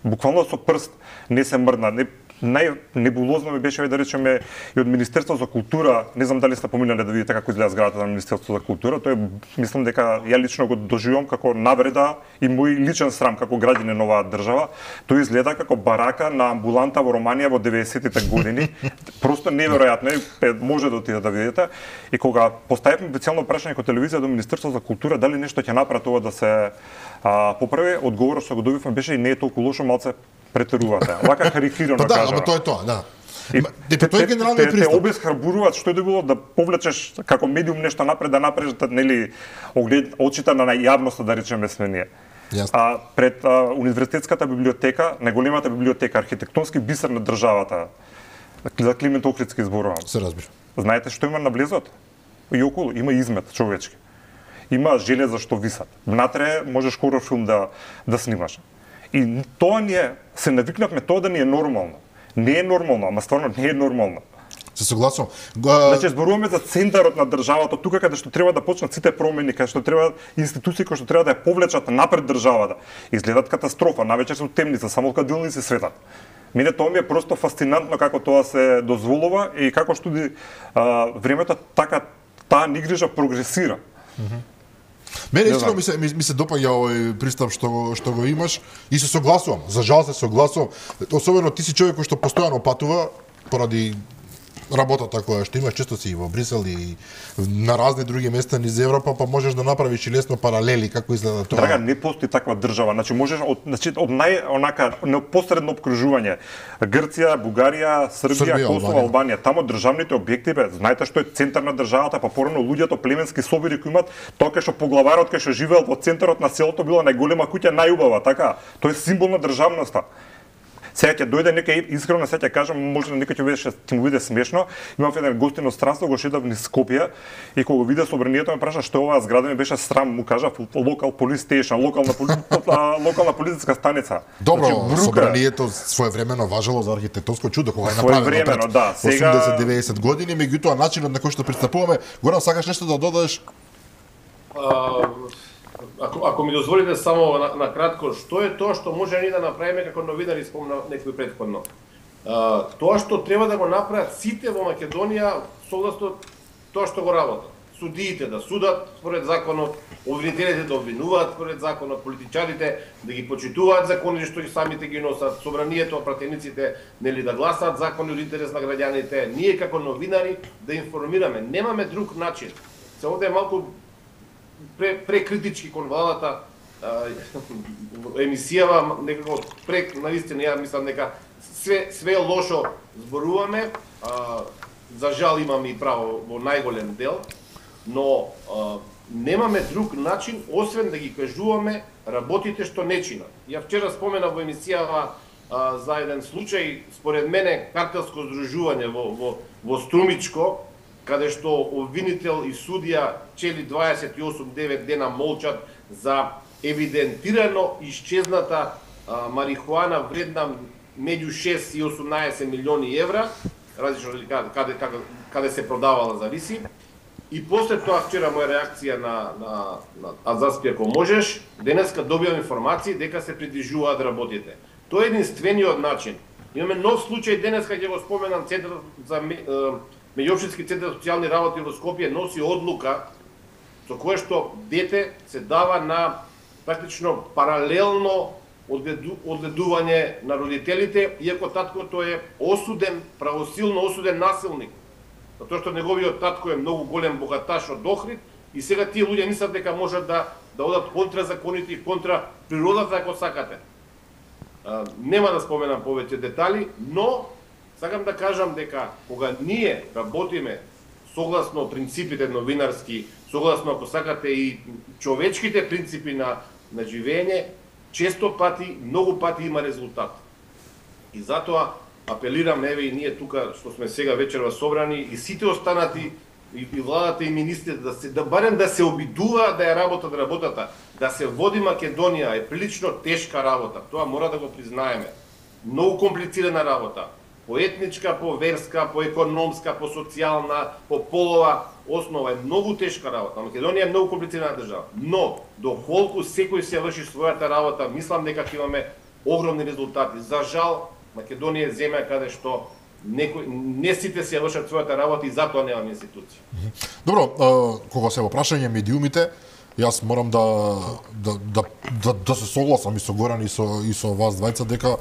буквално со прст не се мрдна. Не, најнебулозно ми беше да речеме и од Министерство за култура, не знам дали сте поминале да видите како изгледа зградата на Министерство за култура, тоа е, мислам дека ја лично го доживувам како навреда и мој личен срам како граѓанин на оваа држава. Тоа изгледа како барака на амбуланта во Романија во деветдесетите години. Просто неверојатно, е, може да отидете да видите. И кога поставивме специјално прашање кон телевизија до Министерство за култура дали нешто ќе направи ова да се а, поправи, одговорот што го добивме беше и не е толку лошо, малце претерувате. Вака карикирано Па да, кажа. ама тоа е тоа, да. И Те, те, тоа е те, генералниот те, те пристап. обесхрабруваат што е да било да повлечеш како медиум нешто напред, да направиш да, нели оглед очите на јавноста да речеме сме ние. Јасно. А пред а, универзитетската библиотека, најголемата библиотека, архитектонски бисер на државата, за Климент Охридски зборувам. Се разбира. Знаете што има на влезот? И околу има измет човечки. Има железа што висат. Внатре можеш хорор филм да да снимаш. И тоа ни е, се навикнавме тоа да ни е нормално. Не е нормално, ама стварно не е нормално. Се согласувам. Го- Значи зборуваме за центарот на државата, тука каде што треба да почнат сите промени, каде што треба институции кои што треба да ја повлечат напред државата. Изгледат катастрофа, навечер се темница, само кадилни се светат. Мене тоа ми е просто фасцинантно како тоа се дозволува и како студи а, времето така таа нигрижа прогресира. Мене Не искрено знам. ми се ми, ми се допаѓа овој пристап што го што го имаш и се согласувам. За жал се согласувам. Особено ти си човек кој што постојано патува поради работата која што имаш, често си и во Брисел и на разни други места низ Европа, па можеш да направиш и лесно паралели како изгледа тоа. Драга, не постои таква држава. Значи можеш од значи од нај онака непосредно обкружување Грција, Бугарија, Србија, Србија, Косово, Албанија. Албанија, тамо државните објекти бе, знаете што е центар на државата, па порано луѓето племенски собори кои имат, тоа кај што поглаварот кај што живеел во центарот на селото била најголема куќа, најубава, така. Тоа е символ на државноста. Сега ќе дојде некој искрено сега ќе кажам, може некој ќе беше ќе му биде смешно. Имав еден гостин од странство, го шетав низ Скопје и кога го виде собранието ме праша што е оваа зграда, ми беше срам, му кажа локал полис стейшн, локална поли... локална полициска станица. Добро, Значи, брука. собранието своевремено важело за архитектонско чудо кога е направено Своевремено, пред да, сега- осумдесет до деветдесет години, меѓутоа начинот на кој што пристапуваме, Горан, сакаш нешто да додадеш? А, ако, ако ми дозволите само на, на кратко, што е тоа што може ни да направиме како новинари, спомна некој претходно. А, тоа што треба да го направат сите во Македонија согласно тоа што го работат. Судиите да судат според законот, обвинителите да обвинуваат според законот, политичарите да ги почитуваат законите што и самите ги носат, собранието, пратениците нели да гласаат закони од интерес на граѓаните, ние како новинари да информираме. Немаме друг начин. Се овде е малку пре, прекритички кон владата, а, емисијава некако прек, наистина ја мислам дека све све лошо зборуваме, а, за жал имаме и право во најголем дел, но а, немаме друг начин освен да ги кажуваме работите што не чинат. Ја вчера споменав во емисијава а, за еден случај, според мене картелско здружување во, во, во Струмичко, каде што обвинител и судија чели дваесет и осум девет дена молчат за евидентирано исчезната а, марихуана вредна меѓу шест и осумнаесет милиони евра, различно каде, каде, каде, каде се продавала зависи. И после тоа вчера моја реакција на, на, на Азаспи ако можеш, денеска добивам информации дека се придвижуваат работите. Тоа е единствениот начин. Имаме нов случај денеска, ќе го споменам, Центар за меѓуопштински центар за социјални работи во Скопје носи одлука со кое што дете се дава на практично паралелно одгледување на родителите, иако таткото е осуден, правосилно осуден насилник. Затоа што неговиот татко е многу голем богаташ од Охрид и сега тие луѓе мислат дека можат да да одат контра законите и контра природата ако сакате. А, нема да споменам повеќе детали, но сакам да кажам дека кога ние работиме согласно принципите новинарски, согласно ако сакате и човечките принципи на на живење, често пати, многу пати има резултат. И затоа апелирам, еве и ние тука што сме сега вечерва собрани и сите останати и, и владата и министрите да се да барем да се обидуваат да ја работат работата, да се води Македонија е прилично тешка работа. Тоа мора да го признаеме. Многу комплицирана работа. По етничка, по верска, по економска, по социјална, по полова основа е многу тешка работа. Македонија е многу комплицирана држава. Но доколку секој се врши својата работа, мислам дека ќе имаме огромни резултати. За жал, Македонија е земја каде што некој не сите се вршат својата работа и затоа немаме институции. Добро, кога се во прашање медиумите, јас морам да да да да, да се согласам и со Горан и со и со вас двајца дека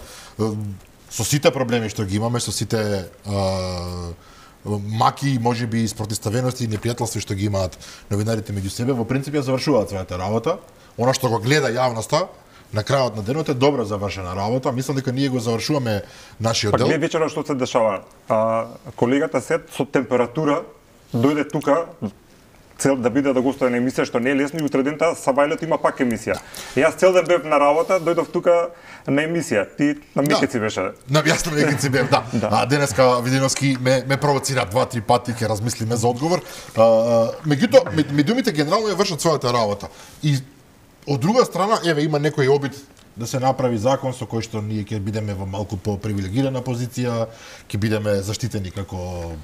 со сите проблеми што ги имаме, со сите а, маки, можеби и спротивставености и непријателства што ги имаат новинарите меѓу себе, во принцип ја завршуваат својата работа. Она што го гледа јавноста на крајот на денот е добро завршена работа. Мислам дека ние го завршуваме нашиот дел. Па гледа вечерва што се дешава. А, колегата Сет со температура дојде тука цел да биде да гостува на емисија што не е лесно и утре дента Сабајлето има пак емисија. Јас цел ден бев на работа, дојдов тука на емисија. Ти на Мекици беше. На јас на Мекици бев, да. Да. А денеска Видиновски ме ме провоцира два-три пати, ќе размислиме за одговор. А, меѓутоа медиумите генерално ја вршат својата работа. И од друга страна, еве има некој обид да се направи закон со кој што ние ќе бидеме во малку по-привилегирана позиција, ќе бидеме заштитени како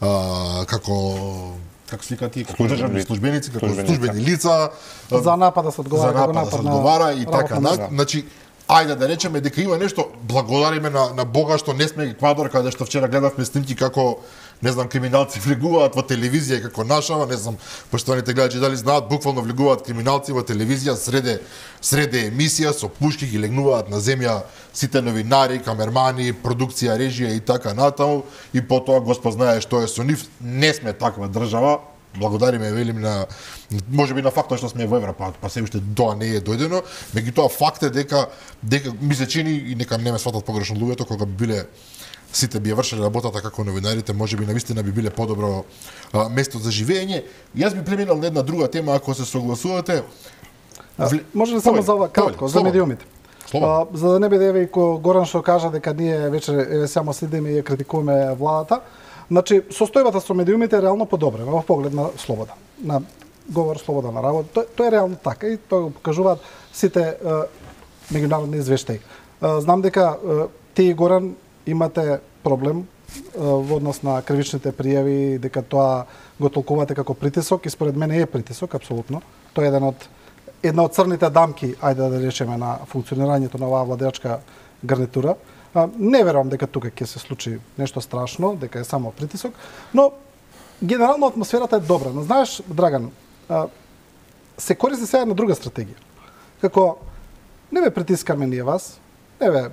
а, како како се викаат тие, како државни службеници, како службени лица, за напад да се одговара, за напад да се одговара и така на... Значи, ајде да речеме дека има нешто, благодариме на на Бога што не сме Еквадор, каде што вчера гледавме снимки како не знам криминалци влегуваат во телевизија како нашава, не знам поштованите гледачи дали знаат, буквално влегуваат криминалци во телевизија среде среде емисија со пушки ги легнуваат на земја сите новинари, камермани, продукција, режија и така натаму и потоа Господ знае што е со нив. Не сме таква држава. Благодариме, велим, на можеби на фактот што сме во Европа, па се уште тоа не е дојдено, меѓутоа факт е дека дека ми се чини и нека не ме сватат погрешно луѓето кога би биле сите би ја вршеле работата како новинарите, можеби навистина би биле подобро а, место за живење. Јас би преминал на една друга тема ако се согласувате. Вли... Може ли само за ова кратко, за медиумите? А, за да не биде еве и Горан што кажа дека ние вечер еве само следиме и ја критикуваме владата. Значи, состојбата со медиумите е реално подобрена во поглед на слобода, на говор слобода на работа. Тоа, тоа е реално така и тоа го покажуваат сите е, меѓународни извештаи. Е, знам дека е, ти, Горан, имате проблем е, во однос на кривичните пријави, дека тоа го толкувате како притисок и според мене е притисок, апсолутно. Тоа е еден од, една од црните дамки, ајде да речеме, на функционирањето на оваа владеачка гарнитура. А, не верувам дека тука ќе се случи нешто страшно, дека е само притисок, но генерално атмосферата е добра. Но знаеш, Драган, а, се користи сега една друга стратегија. Како не ве притискаме ние вас, не ве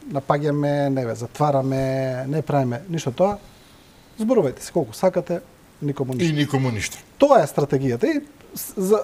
напаѓаме, не ве затвараме, не правиме ништо тоа. Зборувајте се колку сакате, никому ништо. И никому ништо. Тоа е стратегијата. И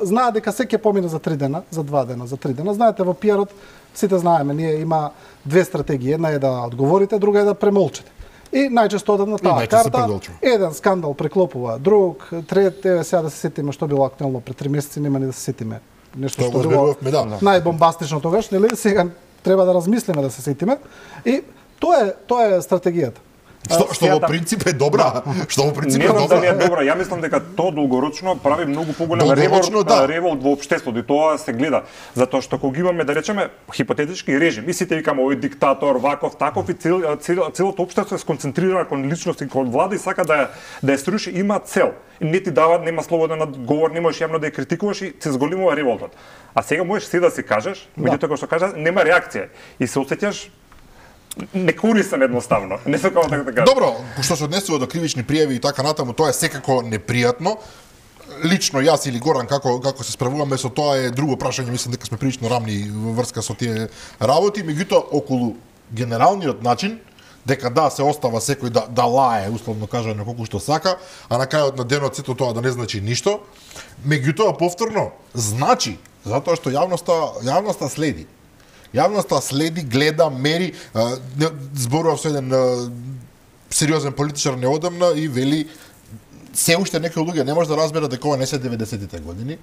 знаат дека се ќе помине за три дена, за два дена, за три дена. Знаете, во пиарот сите знаеме, ние има две стратегии. Една е да одговорите, друга е да премолчите. И најчесто одат на таа карта. Еден скандал преклопува друг, трет, еве сега да се сетиме што било актуелно пред три месеци, нема ни да се сетиме. Нешто што било најбомбастично тогаш, нели? Сега треба да размислиме да се сетиме. И тоа е тоа е стратегијата. Што, што во принцип е добра, што во принцип е добра. Не е добра. Ја мислам дека тоа долгорочно прави многу поголем револт, да. револт во општеството и тоа се гледа. Затоа што кога имаме да речеме хипотетички режим, и сите викаме овој диктатор, ваков, таков и цел, цел, целото општество е сконцентрирано кон личност и кон влада и сака да ја да ја сруши, има цел. Не ти дава, нема слободен одговор, не можеш јавно да ја критикуваш и се зголемува револтот. А сега можеш се да си кажеш, меѓутоа кога што кажеш, нема реакција и се осеќаш некорисен едноставно. Не сакам така да кажам. Добро, што се однесува до кривични пријави и така натаму, тоа е секако непријатно. Лично јас или Горан како како се справуваме со тоа е друго прашање, мислам дека сме прилично рамни во врска со тие работи, меѓутоа околу генералниот начин дека да се остава секој да да лае, условно кажано колку што сака, а на крајот на денот сето тоа да не значи ништо. Меѓутоа повторно значи, затоа што јавноста јавноста следи. Јавноста следи, гледа, мери, зборував со еден сериозен политичар неодамна и вели се уште некои луѓе не може да разберат дека ова не се деветдесетите години,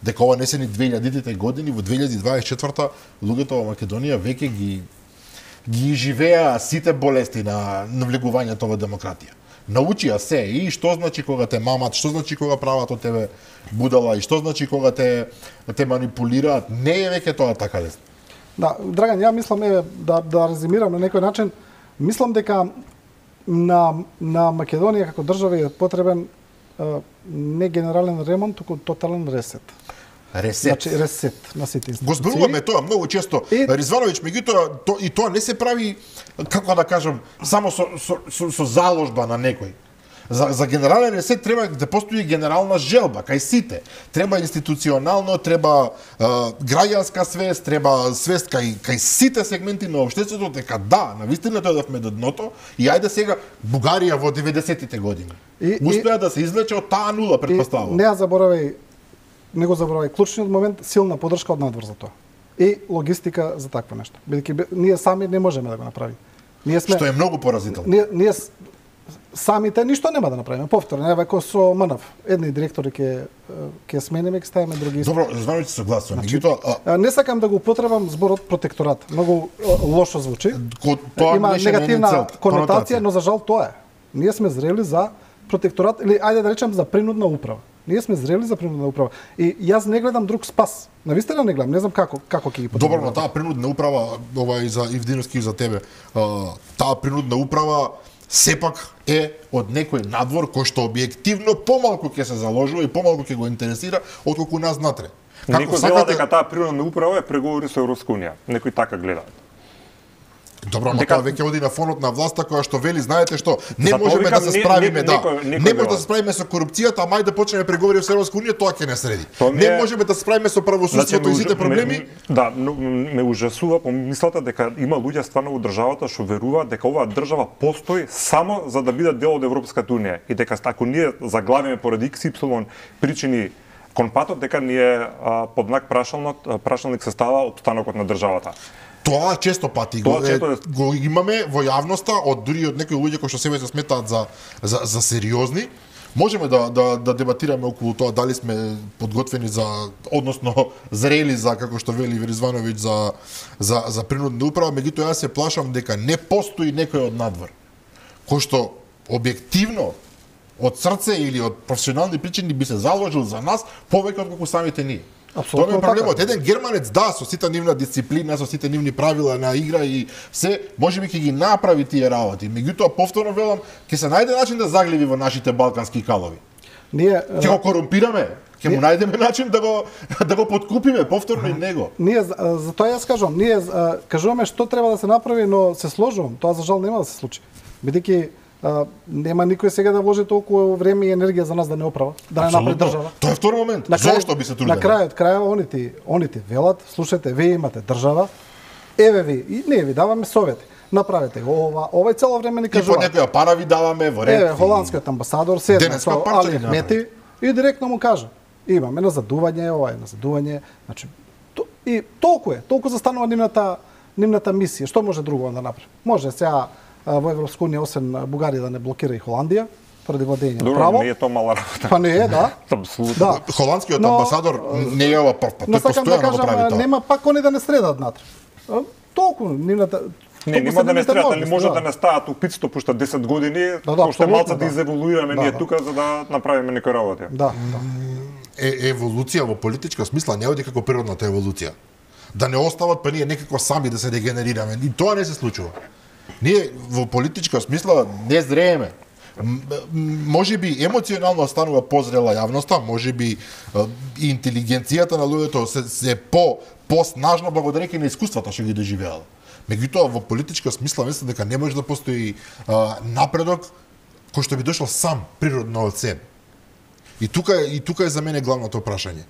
дека ова не се ни две илјадитите години, во две илјади дваесет и четврта луѓето во Македонија веќе ги ги живеа сите болести на навлегувањето во демократија. Научија се и што значи кога те мамат, што значи кога прават од тебе будала и што значи кога те те манипулираат, не е веќе тоа така лесно. Да, Драган, ја мислам еве да да резимирам на некој начин, мислам дека на на Македонија како држава е потребен е, не генерален ремонт, туку тотален ресет. Ресет. Значи ресет на сите институции. Го зборуваме тоа многу често. И... Ризвановиќ, меѓутоа то, и тоа не се прави, како да кажам, само со со, со, со заложба на некој. За, за генерален ресет треба да постои генерална желба кај сите. Треба институционално, треба е, граѓанска свест, треба свест кај кај сите сегменти на општеството дека да, навистина дојдовме до дното и ајде сега Бугарија во деветдесетите години. И, успеа и, да се извлече од таа нула, претпоставувам. Не ја заборавај, не го заборавај клучниот момент, силна поддршка од надвор за тоа. И логистика за такво нешто. Бидејќи ние сами не можеме да го направиме. Ние сме Што е многу поразително. Ние, ние самите ништо нема да направиме. Повторно, еве како со МНФ. Едни директори ќе ќе смениме, ќе ставиме други. Добро, званувам се согласувам. Значи, а... не сакам да го употребам зборот протекторат. Многу лошо звучи. Ко, тоа има негативна конотација, но за жал тоа е. Ние сме зрели за протекторат или ајде да речем за принудна управа. Ние сме зрели за принудна управа. И јас не гледам друг спас. Навистина не гледам, не знам како како ќе ги потребам. Добро, но таа принудна управа, ова и за Ивдиновски и за тебе. Таа принудна управа сепак е од некој надвор кој што објективно помалку ќе се заложува и помалку ќе го интересира отколку нас натре. Некој сакате... гледа дека таа принудна управа е преговори со Европска унија. Некој така гледа. Добро, но дека... тоа веќе оди на фонот на власта која што вели, знаете што, не Зато можеме да се справиме, не, да. Некој, некој не може да се справиме со корупцијата, а мај да почнеме преговори со Европска унија, тоа ќе не среди. Тоа не е... можеме да се справиме со правосудството и сите проблеми. Ме, да, но, ме ужасува помислата дека има луѓе стварно во државата што веруваат дека оваа држава постои само за да биде дел од Европската унија и дека ако ние заглавиме поради икс ипсилон причини кон патот, дека ние а, под знак прашалник, прашалник се става од станокот на државата. Тоа често пати го, е, го имаме во јавноста од дури од некои луѓе кои што себе се сметаат за за, за сериозни. Можеме да, да да дебатираме околу тоа дали сме подготвени за, односно зрели за, како што вели Ризвановиќ, за за за принудна управа, меѓутоа јас се плашам дека не постои некој од надвор кој што објективно од срце или од професионални причини би се заложил за нас повеќе отколку самите ние. Тоа е проблемот. Така. Еден германец, да, со сите нивна дисциплина, со сите нивни правила на игра и се, можеби ќе ги направи тие работи. Меѓутоа, повторно велам, ќе се најде начин да заглеви во нашите балкански калови. Ние ќе го корумпираме, ќе му најдеме начин да го да го подкупиме повторно и него. Ние за, за тоа јас кажувам, ние кажуваме што треба да се направи, но се сложувам, тоа за жал нема да се случи. Бидејќи Uh, нема никој сега да вложи толку време и енергија за нас да не оправа, да не направи држава. Тоа е втор момент. Зошто би се трудел? На крајот, крајот онити, онити велат, слушате, вие имате држава, еве ви, и не ви даваме совети. Направете ова, ова и цело време ни кажува. И по некоја пара ви даваме во ред. Еве, холандскиот амбасадор седна со Али Ахмети и директно му кажа: имаме на задување, ова е на задување, значи то, и толку е, толку застанува нивната нивната мисија. Што може друго да направи? Може сега во Европска унија освен Бугарија да не блокира и Холандија поради владење Добро, право. не е тоа мала работа. Па не е, да. Апсолутно. Да. Холандскиот Но- амбасадор не е ова прв пат, Но тој сакам да постојано го прави кажам, тоа. нема пак они да не средат натре. А, Толку нивната Не, толку нема се да не нивните стреат, али можности, може да не стават у петстотини пушта десет години, Да, да, уште апсолутно, малце да да. изеволуираме Да, ние да. тука за да направиме некои работи. Да, да. Е, еволуција во политичка смисла не оди како природната еволуција. Да не остават па ние некако сами да се дегенерираме. И тоа не се случува. Ние во политичка смисла не зрееме. М- м- Може би емоционално станува позрела јавноста, може би е, и интелигенцијата на луѓето се, се по поснажна благодарејќи на искуствата што ги доживеала. Меѓутоа во политичка смисла мислам дека не може да постои а, напредок кој што би дошол сам природно од себе. И тука е- и тука е за мене главното прашање.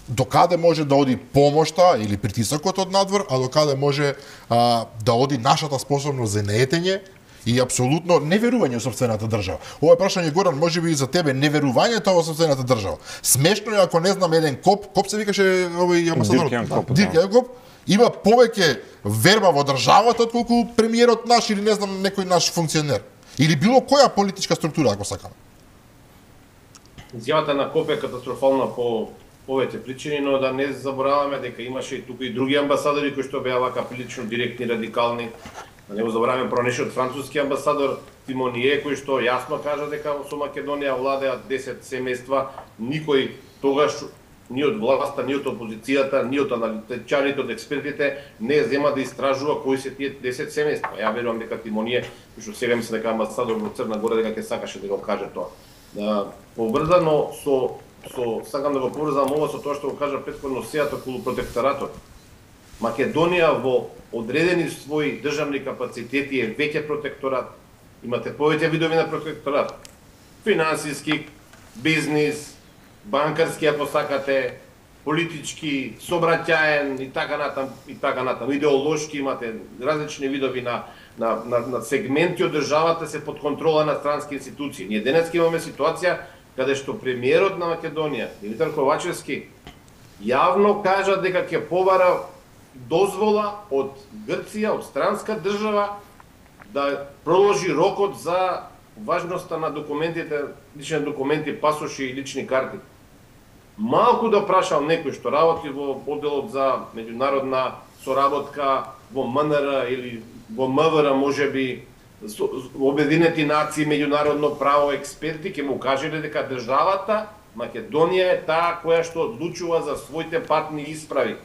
Докаде може да оди помошта или притисокот од надвор, а докаде може а, да оди нашата способност за неетење и апсолутно неверување во сопствената држава. Ова е прашање, Горан, може би и за тебе, неверувањето во сопствената држава. Смешно е ако не знам еден коп, коп се викаше овој амбасадор? Дирк Јан Коп, Дирк да. Јан Коп, има повеќе верба во државата отколку премиерот наш или не знам некој наш функционер. Или било која политичка структура, ако сакам. Изјавата на Коп е катастрофална по повеќе причини, но да не забораваме дека имаше и тука и други амбасадори кои што беа вака прилично директни, радикални. Да не го забораваме пронешиот француски амбасадор Тимоние, кој што јасно кажа дека со Македонија владеат десет семејства, никој тогаш ни од власта, ни од опозицијата, ни од аналитичарите, од експертите не зема да истражува кои се тие десет семејства. Ја верувам дека Тимоние, кој што сега мисли дека амбасадор во Црна Гора дека ќе сакаше да го каже тоа. Да, поврзано со со сакам да го поврзам ова со тоа што го кажа претходно сејата околу протекторатот. Македонија во одредени своји државни капацитети е веќе протекторат. Имате повеќе видови на протекторат. Финансиски, бизнис, банкарски ако сакате, политички, собраќаен и така натам и така натам. Идеолошки имате различни видови на на на, на сегменти од државата се под контрола на странски институции. Ние денес имаме ситуација каде што премиерот на Македонија, Димитар Ковачевски, јавно кажа дека ќе побара дозвола од Грција, од странска држава, да проложи рокот за важноста на документите, лични документи, пасоши и лични карти. Малку да прашам некој што работи во одделот за меѓународна соработка во М Н Р или во М В Р, можеби Обединети нации, меѓународно право, експерти, ќе му кажеле дека државата Македонија е таа која што одлучува за своите патни исправи.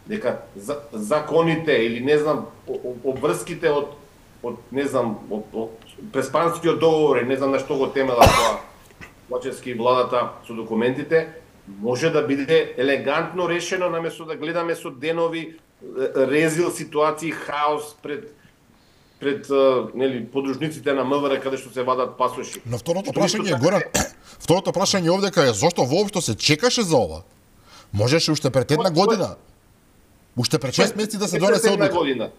Дека за, законите или не знам обврските од од не знам од, од преспанскиот договор, не знам на што го темела тоа Ковачевски владата со документите, може да биде елегантно решено наместо да гледаме со денови резил ситуации, хаос пред пред нели подружниците на М В Р каде што се вадат пасоши. Но второто Што прашање исто е, Горан, второто прашање овдека е зошто воопшто се чекаше за ова? Можеше уште пред една година, уште пред шест месеци да се Не донесе пред една одлука. година.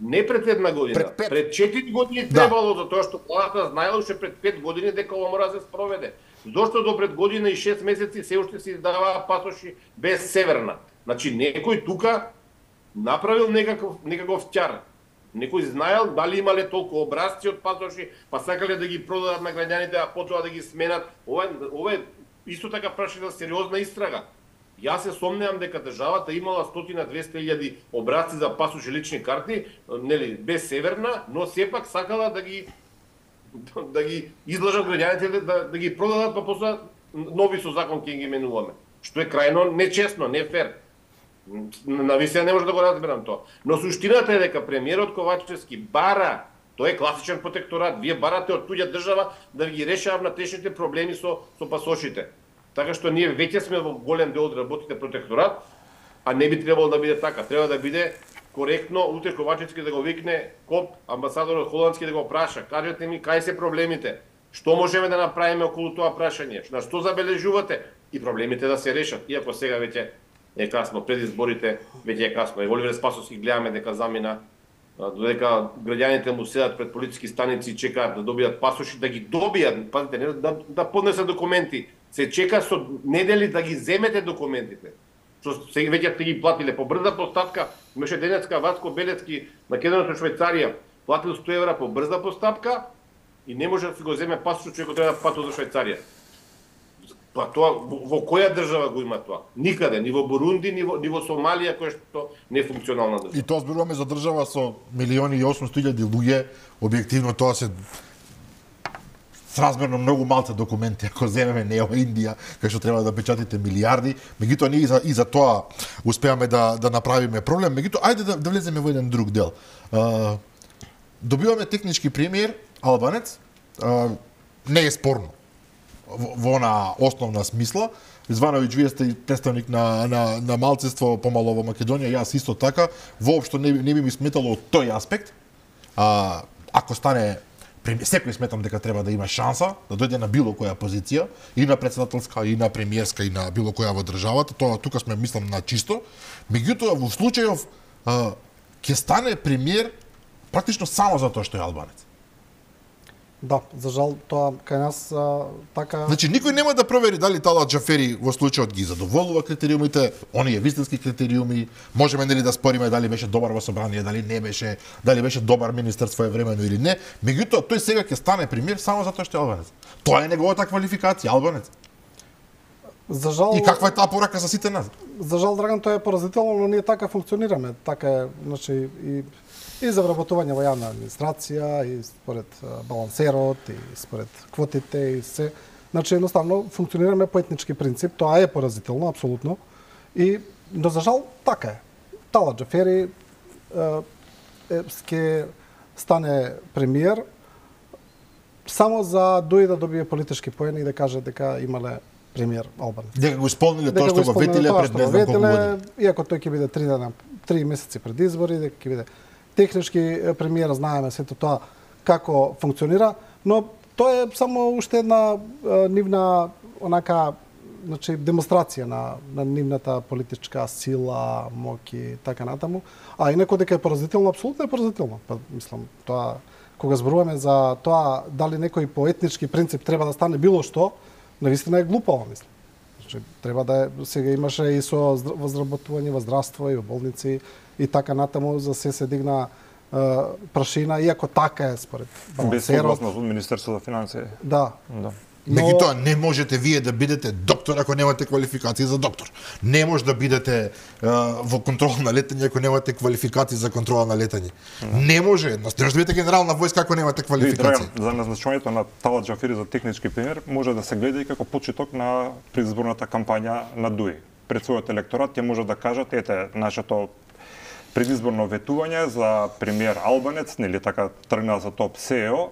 Не пред една година, Пред пет. пред четири години Да. требало, затоа што владата знаела уште пред пет години дека ова мора да се спроведе. Зошто до пред година и шест месеци се уште се издаваа пасоши без северна? Значи некој тука направил некаков некаков ќар. Некој знаел дали имале толку образци од пасоши, па сакале да ги продадат на граѓаните, а потоа да ги сменат. Ова е, ова е исто така прашање за сериозна истрага. Јас се сомневам дека државата имала сто до двесте илјади образци за пасоши лични карти, нели, без северна, но сепак сакала да ги да ги излажат граѓаните да, да ги продадат, па после нови со закон ќе ги менуваме. Што е крајно нечесно, не фер. Навистина не може да го разберам тоа. Но суштината е дека премиерот Ковачевски бара, тоа е класичен протекторат, вие барате од туѓа држава да ги решава внатрешните проблеми со со пасошите. Така што ние веќе сме во голем дел од работите протекторат, а не би требало да биде така. Треба да биде коректно, утре Ковачевски да го викне Коп, амбасадорот холандски да го праша, кажете ми кај се проблемите, што можеме да направиме околу тоа прашање, на што забележувате и проблемите да се решат, иако сега веќе е касно, пред изборите веќе е касно. И Оливер Спасовски гледаме дека замина, додека граѓаните му седат пред полициски станици и чекаат да добијат пасоши, да ги добијат, пазите, не да, да поднесат документи, се чека со недели да ги земете документите. Што се веќе сте ги платиле по брза постапка, имаше денеска Васко Белецки, македонец од Швајцарија, платил сто евра по брза постапка и не може да си го земе пасошот, човекот треба да патува до Швајцарија. Па тоа во која држава го има тоа? Никаде, ни во Бурунди, ни во, ни во Сомалија, која што не е функционална држава. И тоа зборуваме за држава со милиони и осумсто илјади луѓе, објективно тоа се сразмерно многу малце документи, ако земеме Нео Индија, кај што треба да печатите милиарди, меѓутоа ние и за, и за тоа успеаме да, да направиме проблем. Меѓутоа, ајде да, да влеземе во еден друг дел. А, добиваме технички премиер, албанец, а, не е спорно во, во она основна смисла. Звановиќ, вие сте представник на, на, на малцинство помало во Македонија, јас исто така, воопшто не, не би ми сметало од тој аспект. А, ако стане секој сметам дека треба да има шанса да дојде на било која позиција, и на претседателска, и на премиерска, и на било која во државата. Тоа тука сме мислам на чисто. Меѓутоа во случајов ќе стане премиер практично само затоа што е албанец. Да, за жал тоа кај нас а, така. Значи никој нема да провери дали Талат Џафери во случајот ги задоволува критериумите, оние вистински критериуми. Можеме нели да спориме дали беше добар во собрание, дали не беше, дали беше добар министер своевремено или не. Меѓутоа тој сега ќе стане премиер само затоа што е албанец. Тоа е неговата квалификација, албанец. За жал. И каква е таа порака за сите нас? За жал, Драган, тоа е поразително, но ние така функционираме. Така е, значи и и за вработување во јавна администрација, и според балансерот, и според квотите, и се. Значи, едноставно, функционираме по етнички принцип, тоа е поразително, апсолутно. И, но за жал, така е. Талат Џафери ќе стане премиер само за дојде да добие политички поени и да каже дека имале премиер албанец. Дека го исполниле тоа што го ветиле пред не знам колку години. Иако тој ќе биде три дена, три месеци пред избори, дека ќе биде технички премиер, знаеме сето тоа како функционира, но тоа е само уште една е, нивна онака, значи демонстрација на на нивната политичка сила, моќ и така натаму. А инаку дека е поразително, апсолутно е поразително. Па мислам, тоа кога зборуваме за тоа дали некој по етнички принцип треба да стане било што, навистина е глупаво, мислам. Значи треба да е, сега имаше и со возработување во здравство и во болници и така натаму, за се се дигна е, прашина, иако така е според балансерот. Без согласност од Министерството за финансии. Да. Да. Но... Меѓутоа не можете вие да бидете доктор ако немате квалификација за доктор. Не може да бидете е, во контрола на летање ако немате квалификација за контрола на летање. Да. Не може, не може да бидете генерал на војска ако немате квалификација. За назначувањето на Талат Џафери за технички премиер може да се гледа и како почеток на предизборната кампања на ДУИ. Пред својот електорат ќе може да кажат, ете, нашето предизборно ветување за премиер албанец, нели така тргна за топ С Е О,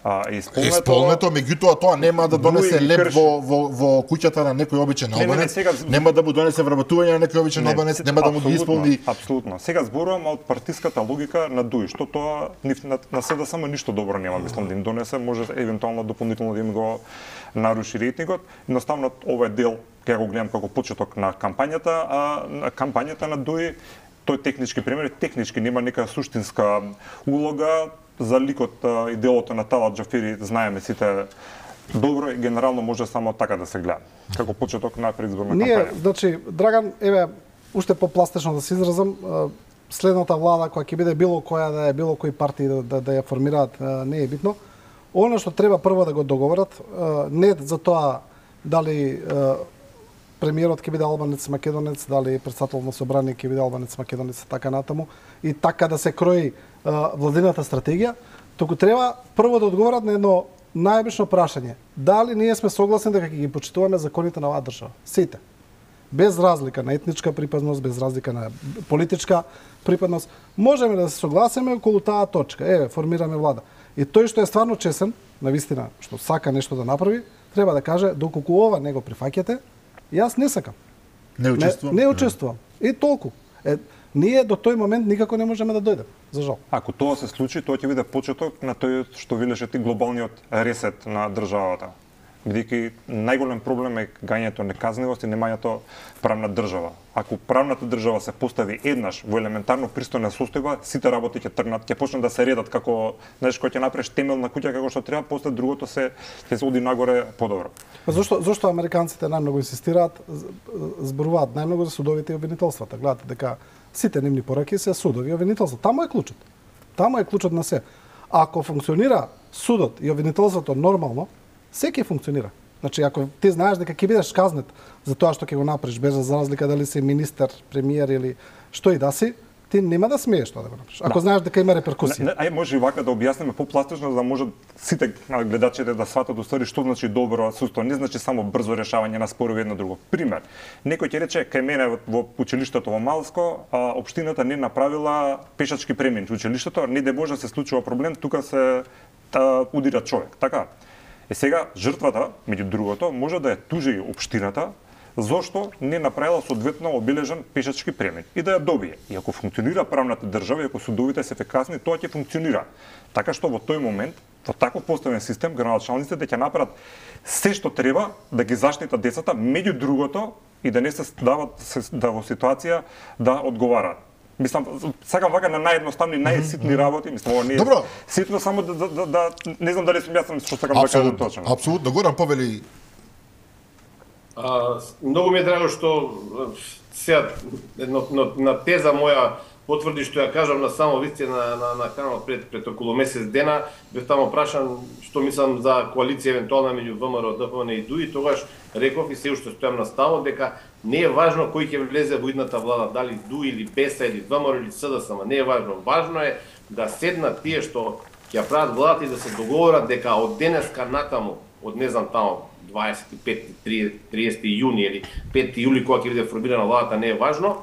а исполнето, исполнето, меѓутоа тоа нема да донесе леп во, во, во куќата на некој обичен албанец, не, не, не, сега... нема да му донесе вработување на некој обичен албанец, нема да му ги исполни. Апсолутно. Сега зборувам од партиската логика на ДУИ, што тоа на, на седа само ништо добро нема, мислам, да им донесе, може евентуално дополнително да им го наруши рейтингот. Едноставно овој дел ќе го гледам како почеток на кампањата, а на кампањата на ДУИ тој технички премиер, технички нема нека суштинска улога. За ликот и делото на Талат Џафери знаеме сите добро и генерално може само така да се гледа, како почеток на предизборна кампања. Ние, значи, Драган, еве, уште попластично да се изразам, следната влада која ќе биде било која да е, било кои партии да, да, да ја формираат, не е битно. Она што треба прво да го договорат, не за тоа дали премиерот ќе биде албанец македонец, дали председател на собрание ќе биде албанец македонец, така натаму, и така да се крои владината стратегија, туку треба прво да одговорат на едно најобично прашање. Дали ние сме согласни дека ќе ги почитуваме законите на оваа држава? Сите. Без разлика на етничка припадност, без разлика на политичка припадност, можеме да се согласиме околу таа точка. Еве, формираме влада. И тој што е стварно чесен, навистина, што сака нешто да направи, треба да каже доколку ова не го прифаќате, јас не сакам. Не учествувам. Не, не учествувам. И толку. Е, ние до тој момент никако не можеме да дојдеме, за жал. Ако тоа се случи, тоа ќе биде почеток на тој што велеше ти глобалниот ресет на државата. Бидејќи најголем проблем е гањето неказнивост и немањето правна држава. Ако правната држава се постави еднаш во елементарно пристојна состојба, сите работи ќе тргнат, ќе почнат да се редат како, знаеш, кога ќе направиш темел на куќа како што треба, после другото се ќе се оди нагоре подобро. Зошто зошто американците најмногу инсистираат, зборуваат најмногу за судовите и обвинителствата. Гледате дека сите нивни пораки се судови и обвинителства. Таму е клучот. Таму е клучот на се. Ако функционира судот и обвинителството нормално, секи функционира. Значи, ако ти знаеш дека ќе бидеш казнет за тоа што ќе го направиш, без за разлика дали си министер, премиер или што и да си, ти нема да смееш тоа да го направиш. Ако да. знаеш дека има реперкусија. Ај може и вака да објасниме попластично за да можат сите гледачите да сватат устари што значи добро судство. Не значи само брзо решавање на спорови едно друго. Пример, некој ќе рече кај мене во училиштето во Малско, а, општината не направила пешачки премин. Училиштето не де Боже се случува проблем, тука се та, удира човек. Така. Е сега жртвата, меѓу другото, може да ја тужи општината зошто не направила соодветно обележан пешачки премин и да ја добие. И ако функционира правната држава и ако судовите се ефикасни, тоа ќе функционира. Така што во тој момент, во таков поставен систем, градоначалниците ќе направат се што треба да ги заштитат децата, меѓу другото и да не се дават да во ситуација да одговараат. Мислам, сакам вака на наједноставни, најситни работи, мислам, ова не е Добро. ситно, само да, да, да, да не знам дали сум јасен што сакам да кажам точно. Апсолутно, Горан повели. А, многу ми е драго што сега на, на, на теза моја потврди што ја кажам на само висце на, на, на каналот пред, пред околу месец дена, бев таму прашан што мислам за коалиција евентуална меѓу ВМРО, ДПМН и ДУИ, тогаш реков и се уште стојам на ставот дека не е важно кој ќе влезе во идната влада, дали ДУИ или БЕСА или ВМРО или СДСМ, не е важно. Важно е да седнат тие што ќе ја прават владата и да се договорат дека од денеска натаму, од не знам таму дваесет и пети, триесети јуни или пети јули кога ќе биде формирана владата, не е важно,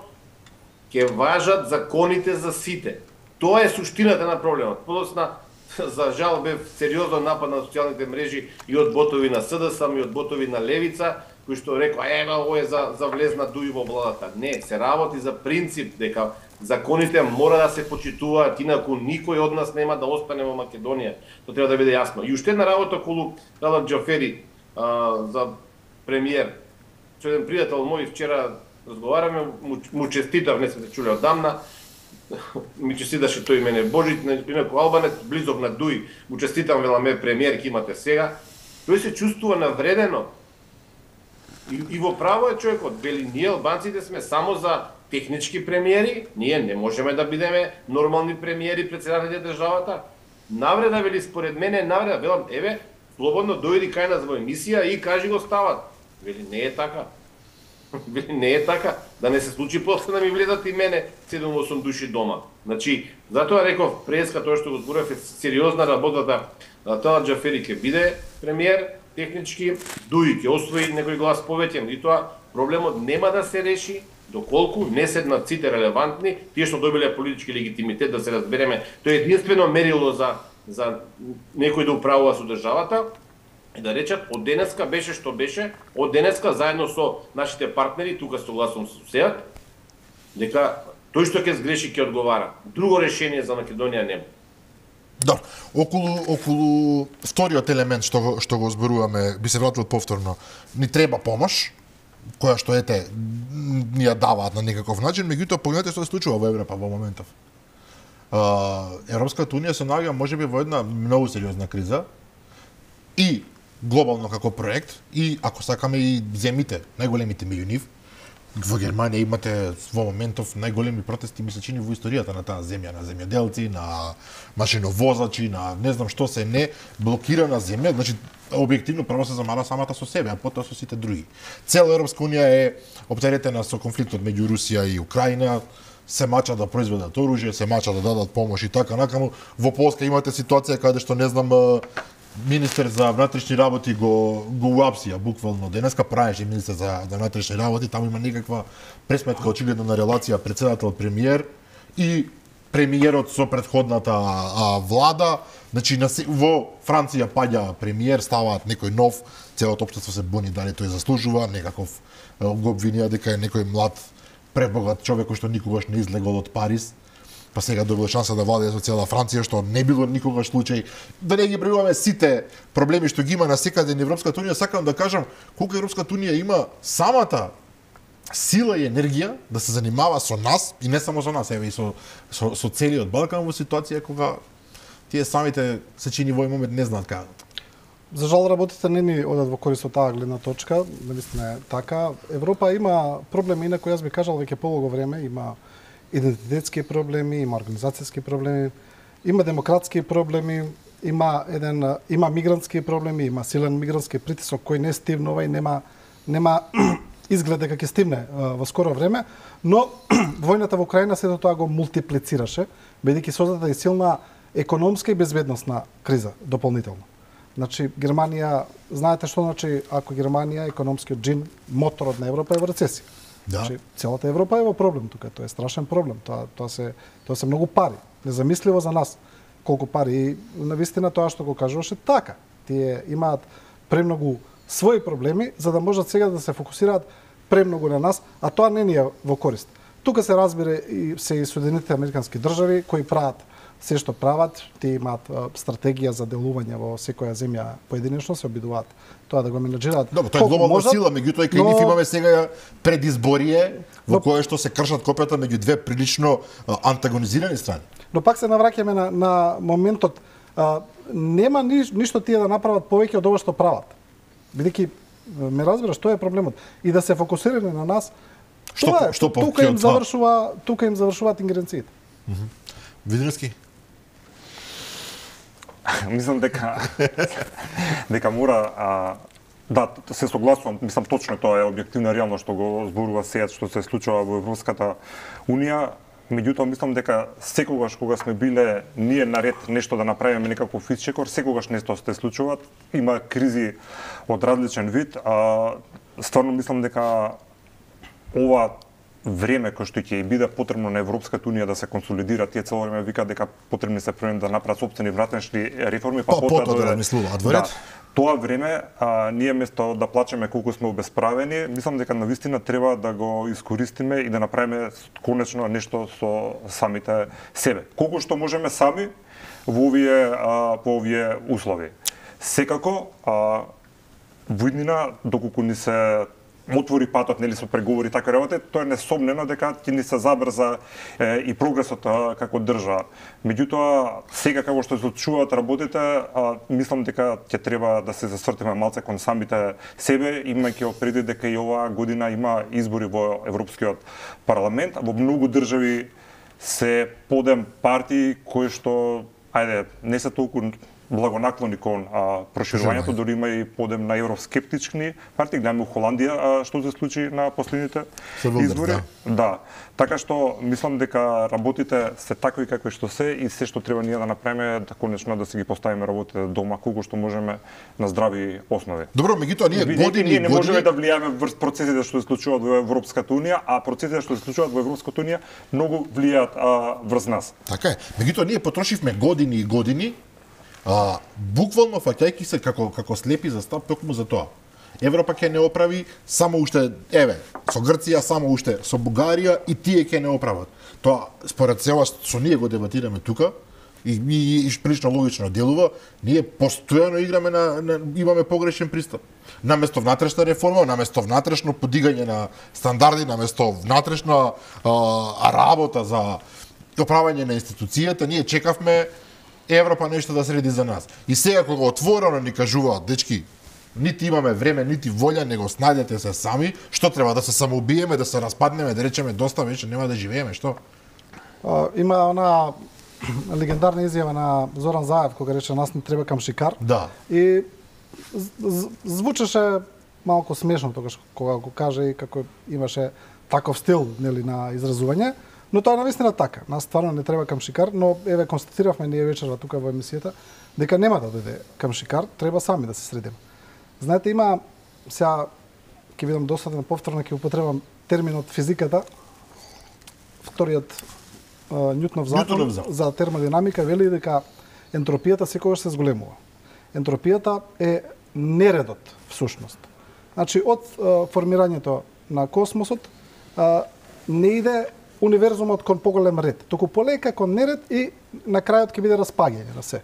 ќе важат законите за сите. Тоа е суштината на проблемот. Подосна, за жал, бев сериозно напад на социјалните мрежи и од ботови на СДСМ и од ботови на Левица, кои што рекоа, ева, ово е за, за влезна ДУИ во владата. Не, се работи за принцип дека законите мора да се почитуваат, инаку никој од нас нема да остане во Македонија. Тоа треба да биде јасно. И уште една работа околу Талат Џафери а, за премиер. Со еден пријател мој вчера разговараме, му, му честитав, не сме се чуле одамна, ми честиташе тој мене Божит, инаку албанец, близок на ДУИ, му честитам, веламе премиер, ки имате сега. Тој се чувствува навредено. И, и во право е човекот, вели, ние албанците сме само за технички премиери, ние не можеме да бидеме нормални премиери председатели на државата. Навреда, вели, според мене, навреда, велам, еве, слободно дојди кај нас во емисија и кажи го стават. Вели, не е така. Вели, не е така. Да не се случи после да ми влезат и мене седум-осум души дома. Значи, затоа реков, преска тоа што го зборев е сериозна работата. Талат Џафери ќе биде премиер, технички, ДУИ ќе освои некој глас повеќе, и тоа проблемот нема да се реши доколку не седнат сите релевантни, тие што добиле политички легитимитет, да се разбереме. Тоа е единствено мерило за за некој да управува со државата, и да речат од денеска беше што беше, од денеска заедно со нашите партнери, тука согласувам со сеат, дека тој што ќе сгреши ќе одговара. Друго решение за Македонија нема. Да, околу околу вториот елемент што го, што го зборуваме, би се вратил повторно. Ни треба помош, која што ете ни ја даваат на некаков начин, меѓутоа погледнете што се случува во Европа во моментов. Европската унија се наоѓа можеби во една многу сериозна криза и глобално како проект, и ако сакаме и земите, најголемите меѓу нив. Во Германија имате во моментов најголеми протести, ми се чини, во историјата на таа земја, на земјоделци, на машиновозачи, на не знам што се не, блокирана земја, значи објективно прво се замара самата со себе, а потоа со сите други. Цела Европска унија е оптеретена со конфликтот меѓу Русија и Украина, се мача да произведат оружје, се мача да дадат помош и така накаму. Во Полска имате ситуација каде што не знам министер за внатрешни работи го го уапсија буквално денеска, правеше министер за, за внатрешни работи, таму има некаква пресметка очигледно на релација председател премиер и премиерот со претходната а, влада. Значи на, во Франција паѓа премиер, ставаат некој нов, целото општество се буни дали тој заслужува, некаков го обвинија дека е некој млад пребогат човек кој што никогаш не излегол од Париз, па сега добил шанса да владее со цела Франција, што не било никогаш случај. Да не ги пребројуваме сите проблеми што ги има на секаде на Европската унија, сакам да кажам колку Европската унија има самата сила и енергија да се занимава со нас, и не само со нас, еве и со, со, со целиот Балкан во ситуација кога тие самите се чини во момент не знаат како. За жал работите не ни одат во корист од таа гледна точка, наистина е така. Европа има проблеми, инаку јас би кажал веќе полого време, има идентитетски проблеми, има организацијски проблеми. има демократски проблеми, има еден има мигрантски проблеми, има силен мигрантски притисок кој не стивнува и нема нема изглед дека ќе стивне во скоро време, но војната во Украина сето тоа го мултиплицираше, бидејќи создаде и силна економска и безбедносна криза дополнително. Значи Германија, знаете што значи ако Германија економскиот джин, моторот на Европа е во рецесија. Да. Значи целата Европа е во проблем тука, тоа е страшен проблем. Тоа тоа се тоа се многу пари, незамисливо за нас колку пари и навистина тоа што го кажуваше така. Тие имаат премногу своји проблеми за да можат сега да се фокусираат премногу на нас, а тоа не ни е во корист. Тука се разбира и се и Соединетите американски држави кои прават се што прават, тие имаат стратегија за делување во секоја земја поединечно, се обидуваат тоа да го менеджираат. Добро, тоа е глобална можат, сила, меѓутоа и кај нив имаме сега предизборие во но, кое што се кршат копјата меѓу две прилично а, антагонизирани страни. Но пак се навраќаме на, на моментот, а, нема ни, ништо тие да направат повеќе од ова што прават. Бидејќи ме разбираш, тоа е проблемот. И да се фокусираме на нас, што, тоа е, што тука им завршува, тука им завршуваат ингеренциите. Mm -hmm. Видиновски? Мислам дека дека мора а, да се согласувам, мислам точно тоа е објективна реално што го зборува сега што се случува во Европската унија. Меѓутоа мислам дека секогаш кога сме биле ние наред нешто да направиме некаков исчекор, секогаш нешто се случуваат, има кризи од различен вид, а стварно мислам дека ова време кој што ќе биде потребно на Европската унија да се консолидира, тие цело време викаат дека потребни се првен да направат сопствени вратнешни реформи, па, па потоа да размислуваат. Да, тоа време а, ние место да плачеме колку сме обесправени, мислам дека навистина треба да го искористиме и да направиме конечно нешто со самите себе. Колку што можеме сами во овие а, по овие услови. Секако а, во иднина доколку ни се отвори патот, нели со преговори така работи, тоа е несомнено дека ќе ни се забрза е, и прогресот а, како држава. Меѓутоа, сега како што се случуваат работите, а, мислам дека ќе треба да се засвртиме малце кон самите себе, имајќи предвид дека и оваа година има избори во Европскиот парламент, а во многу држави се подем партии кои што, ајде, не се толку благонаклони кон а, проширувањето, дори има и подем на евроскептични партии, гледаме у Холандија а, што се случи на последните избори. Да. да. Така што мислам дека работите се такви какви што се и се што треба ние да направиме да конечно да си ги поставиме работите дома колку што можеме на здрави основи. Добро, меѓутоа ние години ние не години... можеме да влијаме врз процесите што се случуваат во Европската унија, а процесите што се случуваат во Европската унија многу влијаат врз нас. Така е. Меѓутоа ние потрошивме години и години А, буквално фаќајќи се како како слепи за стап токму за тоа. Европа ќе не оправи само уште, еве, со Грција само уште, со Бугарија и тие ќе не оправат. Тоа според сева со ние го дебатираме тука и, и, и прилично логично делува, ние постојано играме на, на имаме погрешен пристап. Наместо внатрешна реформа, наместо внатрешно подигање на стандарди, наместо внатрешна а, работа за оправање на институцијата, ние чекавме Европа нешто да среди за нас. И сега кога отворено ни кажуваат, дечки, нити имаме време, нити волја, него снајдете се сами, што треба да се самоубиеме, да се распаднеме, да речеме доста веќе нема да живееме, што? А, има она легендарна изјава на Зоран Заев кога рече нас не треба камшикар. Да. И звучеше малку смешно тогаш кога го каже и како имаше таков стил, нели, на изразување. Но тоа е навистина така. Нас стварно не треба камшикар, но еве констатиравме ние вечерва тука во емисијата дека нема да дојде камшикар, треба сами да се средиме. Знаете, има сега ќе бидам досаден повторно ќе употребам терминот физиката. Вториот Њутонов закон за термодинамика вели дека ентропијата секогаш се зголемува. Ентропијата е нередот всушност. Значи од формирањето на космосот не иде универзумот кон поголем ред, туку полека кон неред и на крајот ќе биде распаѓање на се.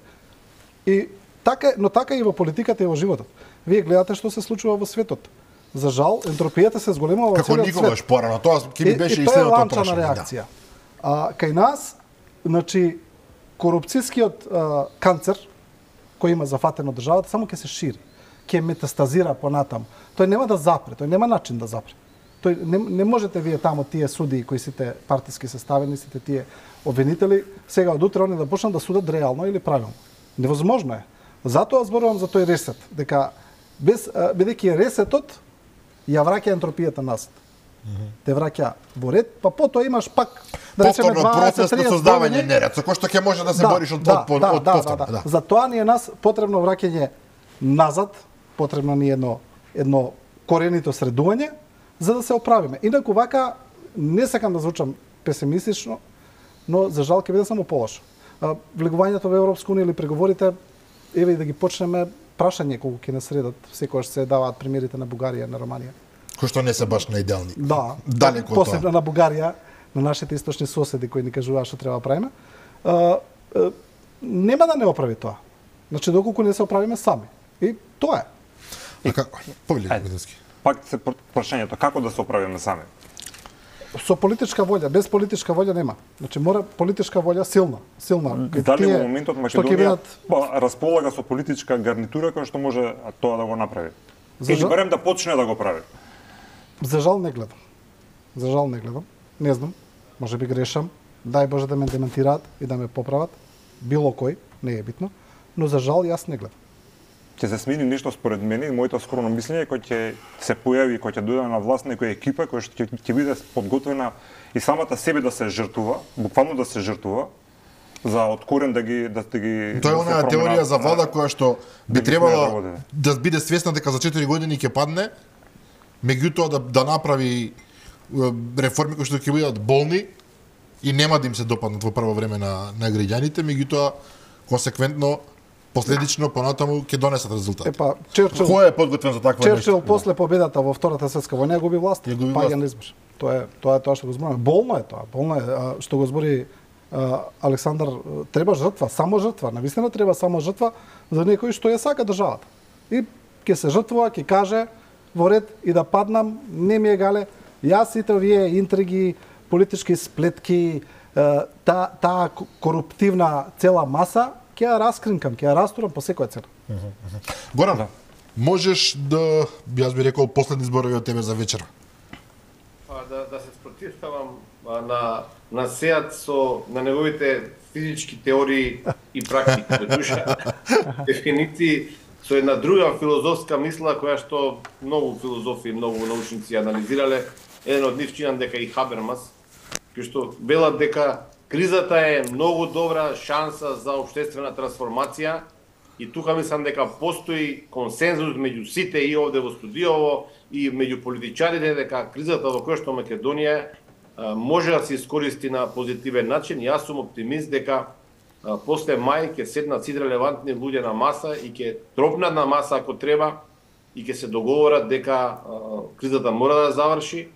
И така, но така и во политиката и во животот. Вие гледате што се случува во светот. За жал, ентропијата се зголемува во целиот свет. Како никогаш порано, тоа ќе би беше и, и тоа е следното ланчана реакција. Да. А, кај нас, значи, корупцијскиот а, канцер кој има зафатено државата само ќе се шири, ќе метастазира понатаму. Тој нема да запре, тој нема начин да запре. Тој не, не можете вие таму тие судии кои сите партиски составени, сите тие обвинители, сега од утре они да почнат да судат реално или правилно. Невозможно е. Затоа зборувам за тој ресет, дека без бидејќи ресетот ја враќа ентропијата назад. Те враќа во ред, па потоа имаш пак да речеме процес на создавање неред, со кој што ќе може да се да, бориш од да, од, да, од да, повторно. да, да. Да. За тоа ни е нас потребно враќање назад, потребно ни е едно едно коренито средување за да се оправиме. Инаку вака не сакам да звучам песимистично, но за жал ќе биде само полошо. Влегувањето во Европска унија или преговорите, еве и да ги почнеме, прашање колку ќе не средат секогаш се даваат примерите на Бугарија, на Романија. Кои што не се баш наидеални. Да, далеко посебно тоа. на Бугарија, на нашите источни соседи кои ни кажуваат што треба да правиме. А, а, нема да не оправи тоа. Значи доколку не се оправиме сами. И тоа е. И како? Повели Виденски. Пак се прашањето како да се оправиме сами. Со политичка волја, без политичка волја нема. Значи мора политичка волја силна, силна. Дали во моментот Македонија бидат... па, располага со политичка гарнитура која што може тоа да го направи? За Или жал... барем да почне да го прави? За жал не гледам. За жал не гледам. Не знам. Може би грешам. Дај Боже да ме дементираат и да ме поправат. Било кој, не е битно. Но за жал јас не гледам. Ќе се смени нешто според мене и моето скромно мислење кој ќе се појави, кој ќе дојде на власт некоја екипа која што ќе, ќе биде подготвена и самата себе да се жртвува, буквално да се жртвува за од корен да ги да ги Тоа е да онаа теорија за влада која што би да ги требала сменат да биде свесна дека за четири години ќе падне, меѓутоа да да направи е, реформи кои што ќе бидат болни и нема да им се допаднат во прво време на на граѓаните, меѓутоа консеквентно последично понатаму ќе донесат резултат. Епа, Черчил, Кој е подготвен за таква Черчил нешто? после победата во Втората светска војна губи власт. Ја губи Паѓа власт. на избор. Тоа е тоа е тоа што го зборуваме. Болно е тоа, болно е а, што го збори а, Александар, треба жртва, само жртва. Навистина треба само жртва за некој што ја сака државата. И ќе се жртвува, ќе каже во ред и да паднам, не ми е гале. Јас сите овие интриги, политички сплетки, таа та коруптивна цела маса ќе ја раскринкам, ќе ја растурам по секоја цена. Горан, да. Можеш да, јас би рекол, последни зборови од тебе за вечера. Па да да се спротивставам а, на на Сеат со на неговите физички теории и практики, душа дефиниции со една друга филозофска мисла која што многу филозофи, многу научници анализирале. Еден од нив чинам дека и Хабермас, кој што велат дека кризата е многу добра шанса за општествена трансформација и тука мислам дека постои консензус меѓу сите и овде во студиово и меѓу политичарите дека кризата во која што Македонија а, може да се искористи на позитивен начин. Јас сум оптимист дека а, после мај ќе седнат сите релевантни луѓе на маса и ќе тропнат на маса ако треба и ќе се договорат дека а, кризата мора да заврши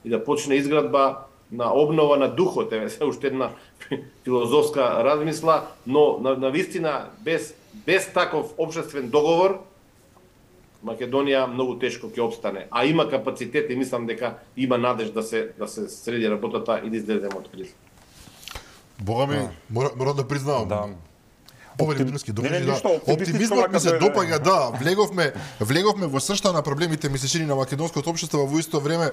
и да почне изградба на обнова на духот, еве се уште една филозофска размисла, но на, на вистина без без таков општествен договор Македонија многу тешко ќе опстане, а има капацитет и мислам дека има надеж да се да се среди работата и да излеземе од криза. Бога ми, да. мора, мора да признавам. Да. Повели Виденски, Не, не, докажи да. ништо оптимистично Оптимизмот ми се како е, допаѓа, да. Влеговме, влеговме во сршта на проблемите ми се чини на македонското општество, во исто време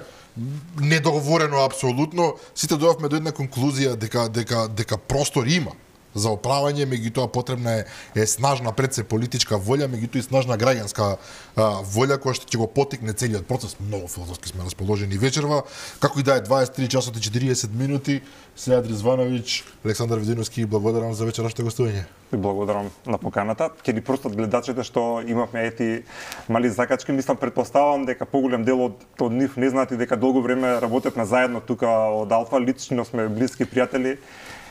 недоговорено апсолутно. Сите дојавме до една конклузија дека дека дека простор има за оправање, меѓутоа потребна е, е снажна пред се политичка волја, меѓутоа и снажна граѓанска а, волја која што ќе го потикне целиот процес. Многу филозофски сме расположени вечерва. Како и да е дваесет и три часот и четириесет минути, Сејад Ризвановиќ, Александар Видиновски, благодарам за вечерашното гостување. И благодарам на поканата. Ќе ни простат гледачите што имавме ети мали закачки. Мислам, предпоставам дека поголем дел од, од нив не знаат и дека долго време работевме заедно тука од Алфа. Лично сме блиски пријатели.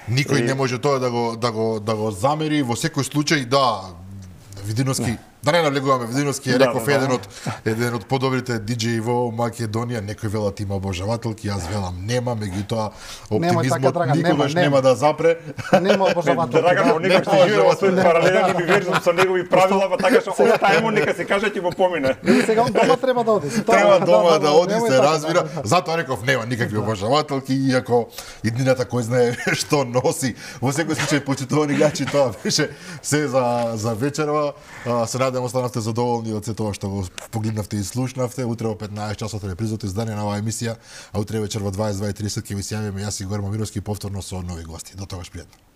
Никој И... не може тоа да го да го да го замери. Во секој случај да Видиновски, да не навлегуваме, Видиновски е Да, реков да, да. еден од еден од подобрите диџеи во Македонија. Некој велат има обожавателки, јас велам нема, меѓутоа Нема оптимизмот така, Драган, никогаш нема, нема нема. да запре. Нема обожавателки. Драган, да. да, некој што живее во свој паралелен универзум со негови правила, па така што оставимо нека се каже ќе го помине. И сега он дома треба да оди. Тоа- Треба дома да оди, немој се така, разбира. да, да. Затоа реков нема никакви обожавателки, иако иднината кој знае што носи. Во секој случај почитувани гледачи, тоа беше се за за вечерва. А, се надам останавте задоволни од се тоа што го погледнавте и слушнавте. Утре во петнаесет часот репризото издание на оваа емисија, а утре вечер во дваесет и два и тридесет ќе ви се јавиме јас и Игор Момировски повторно со нови гости. До тогаш пријатно.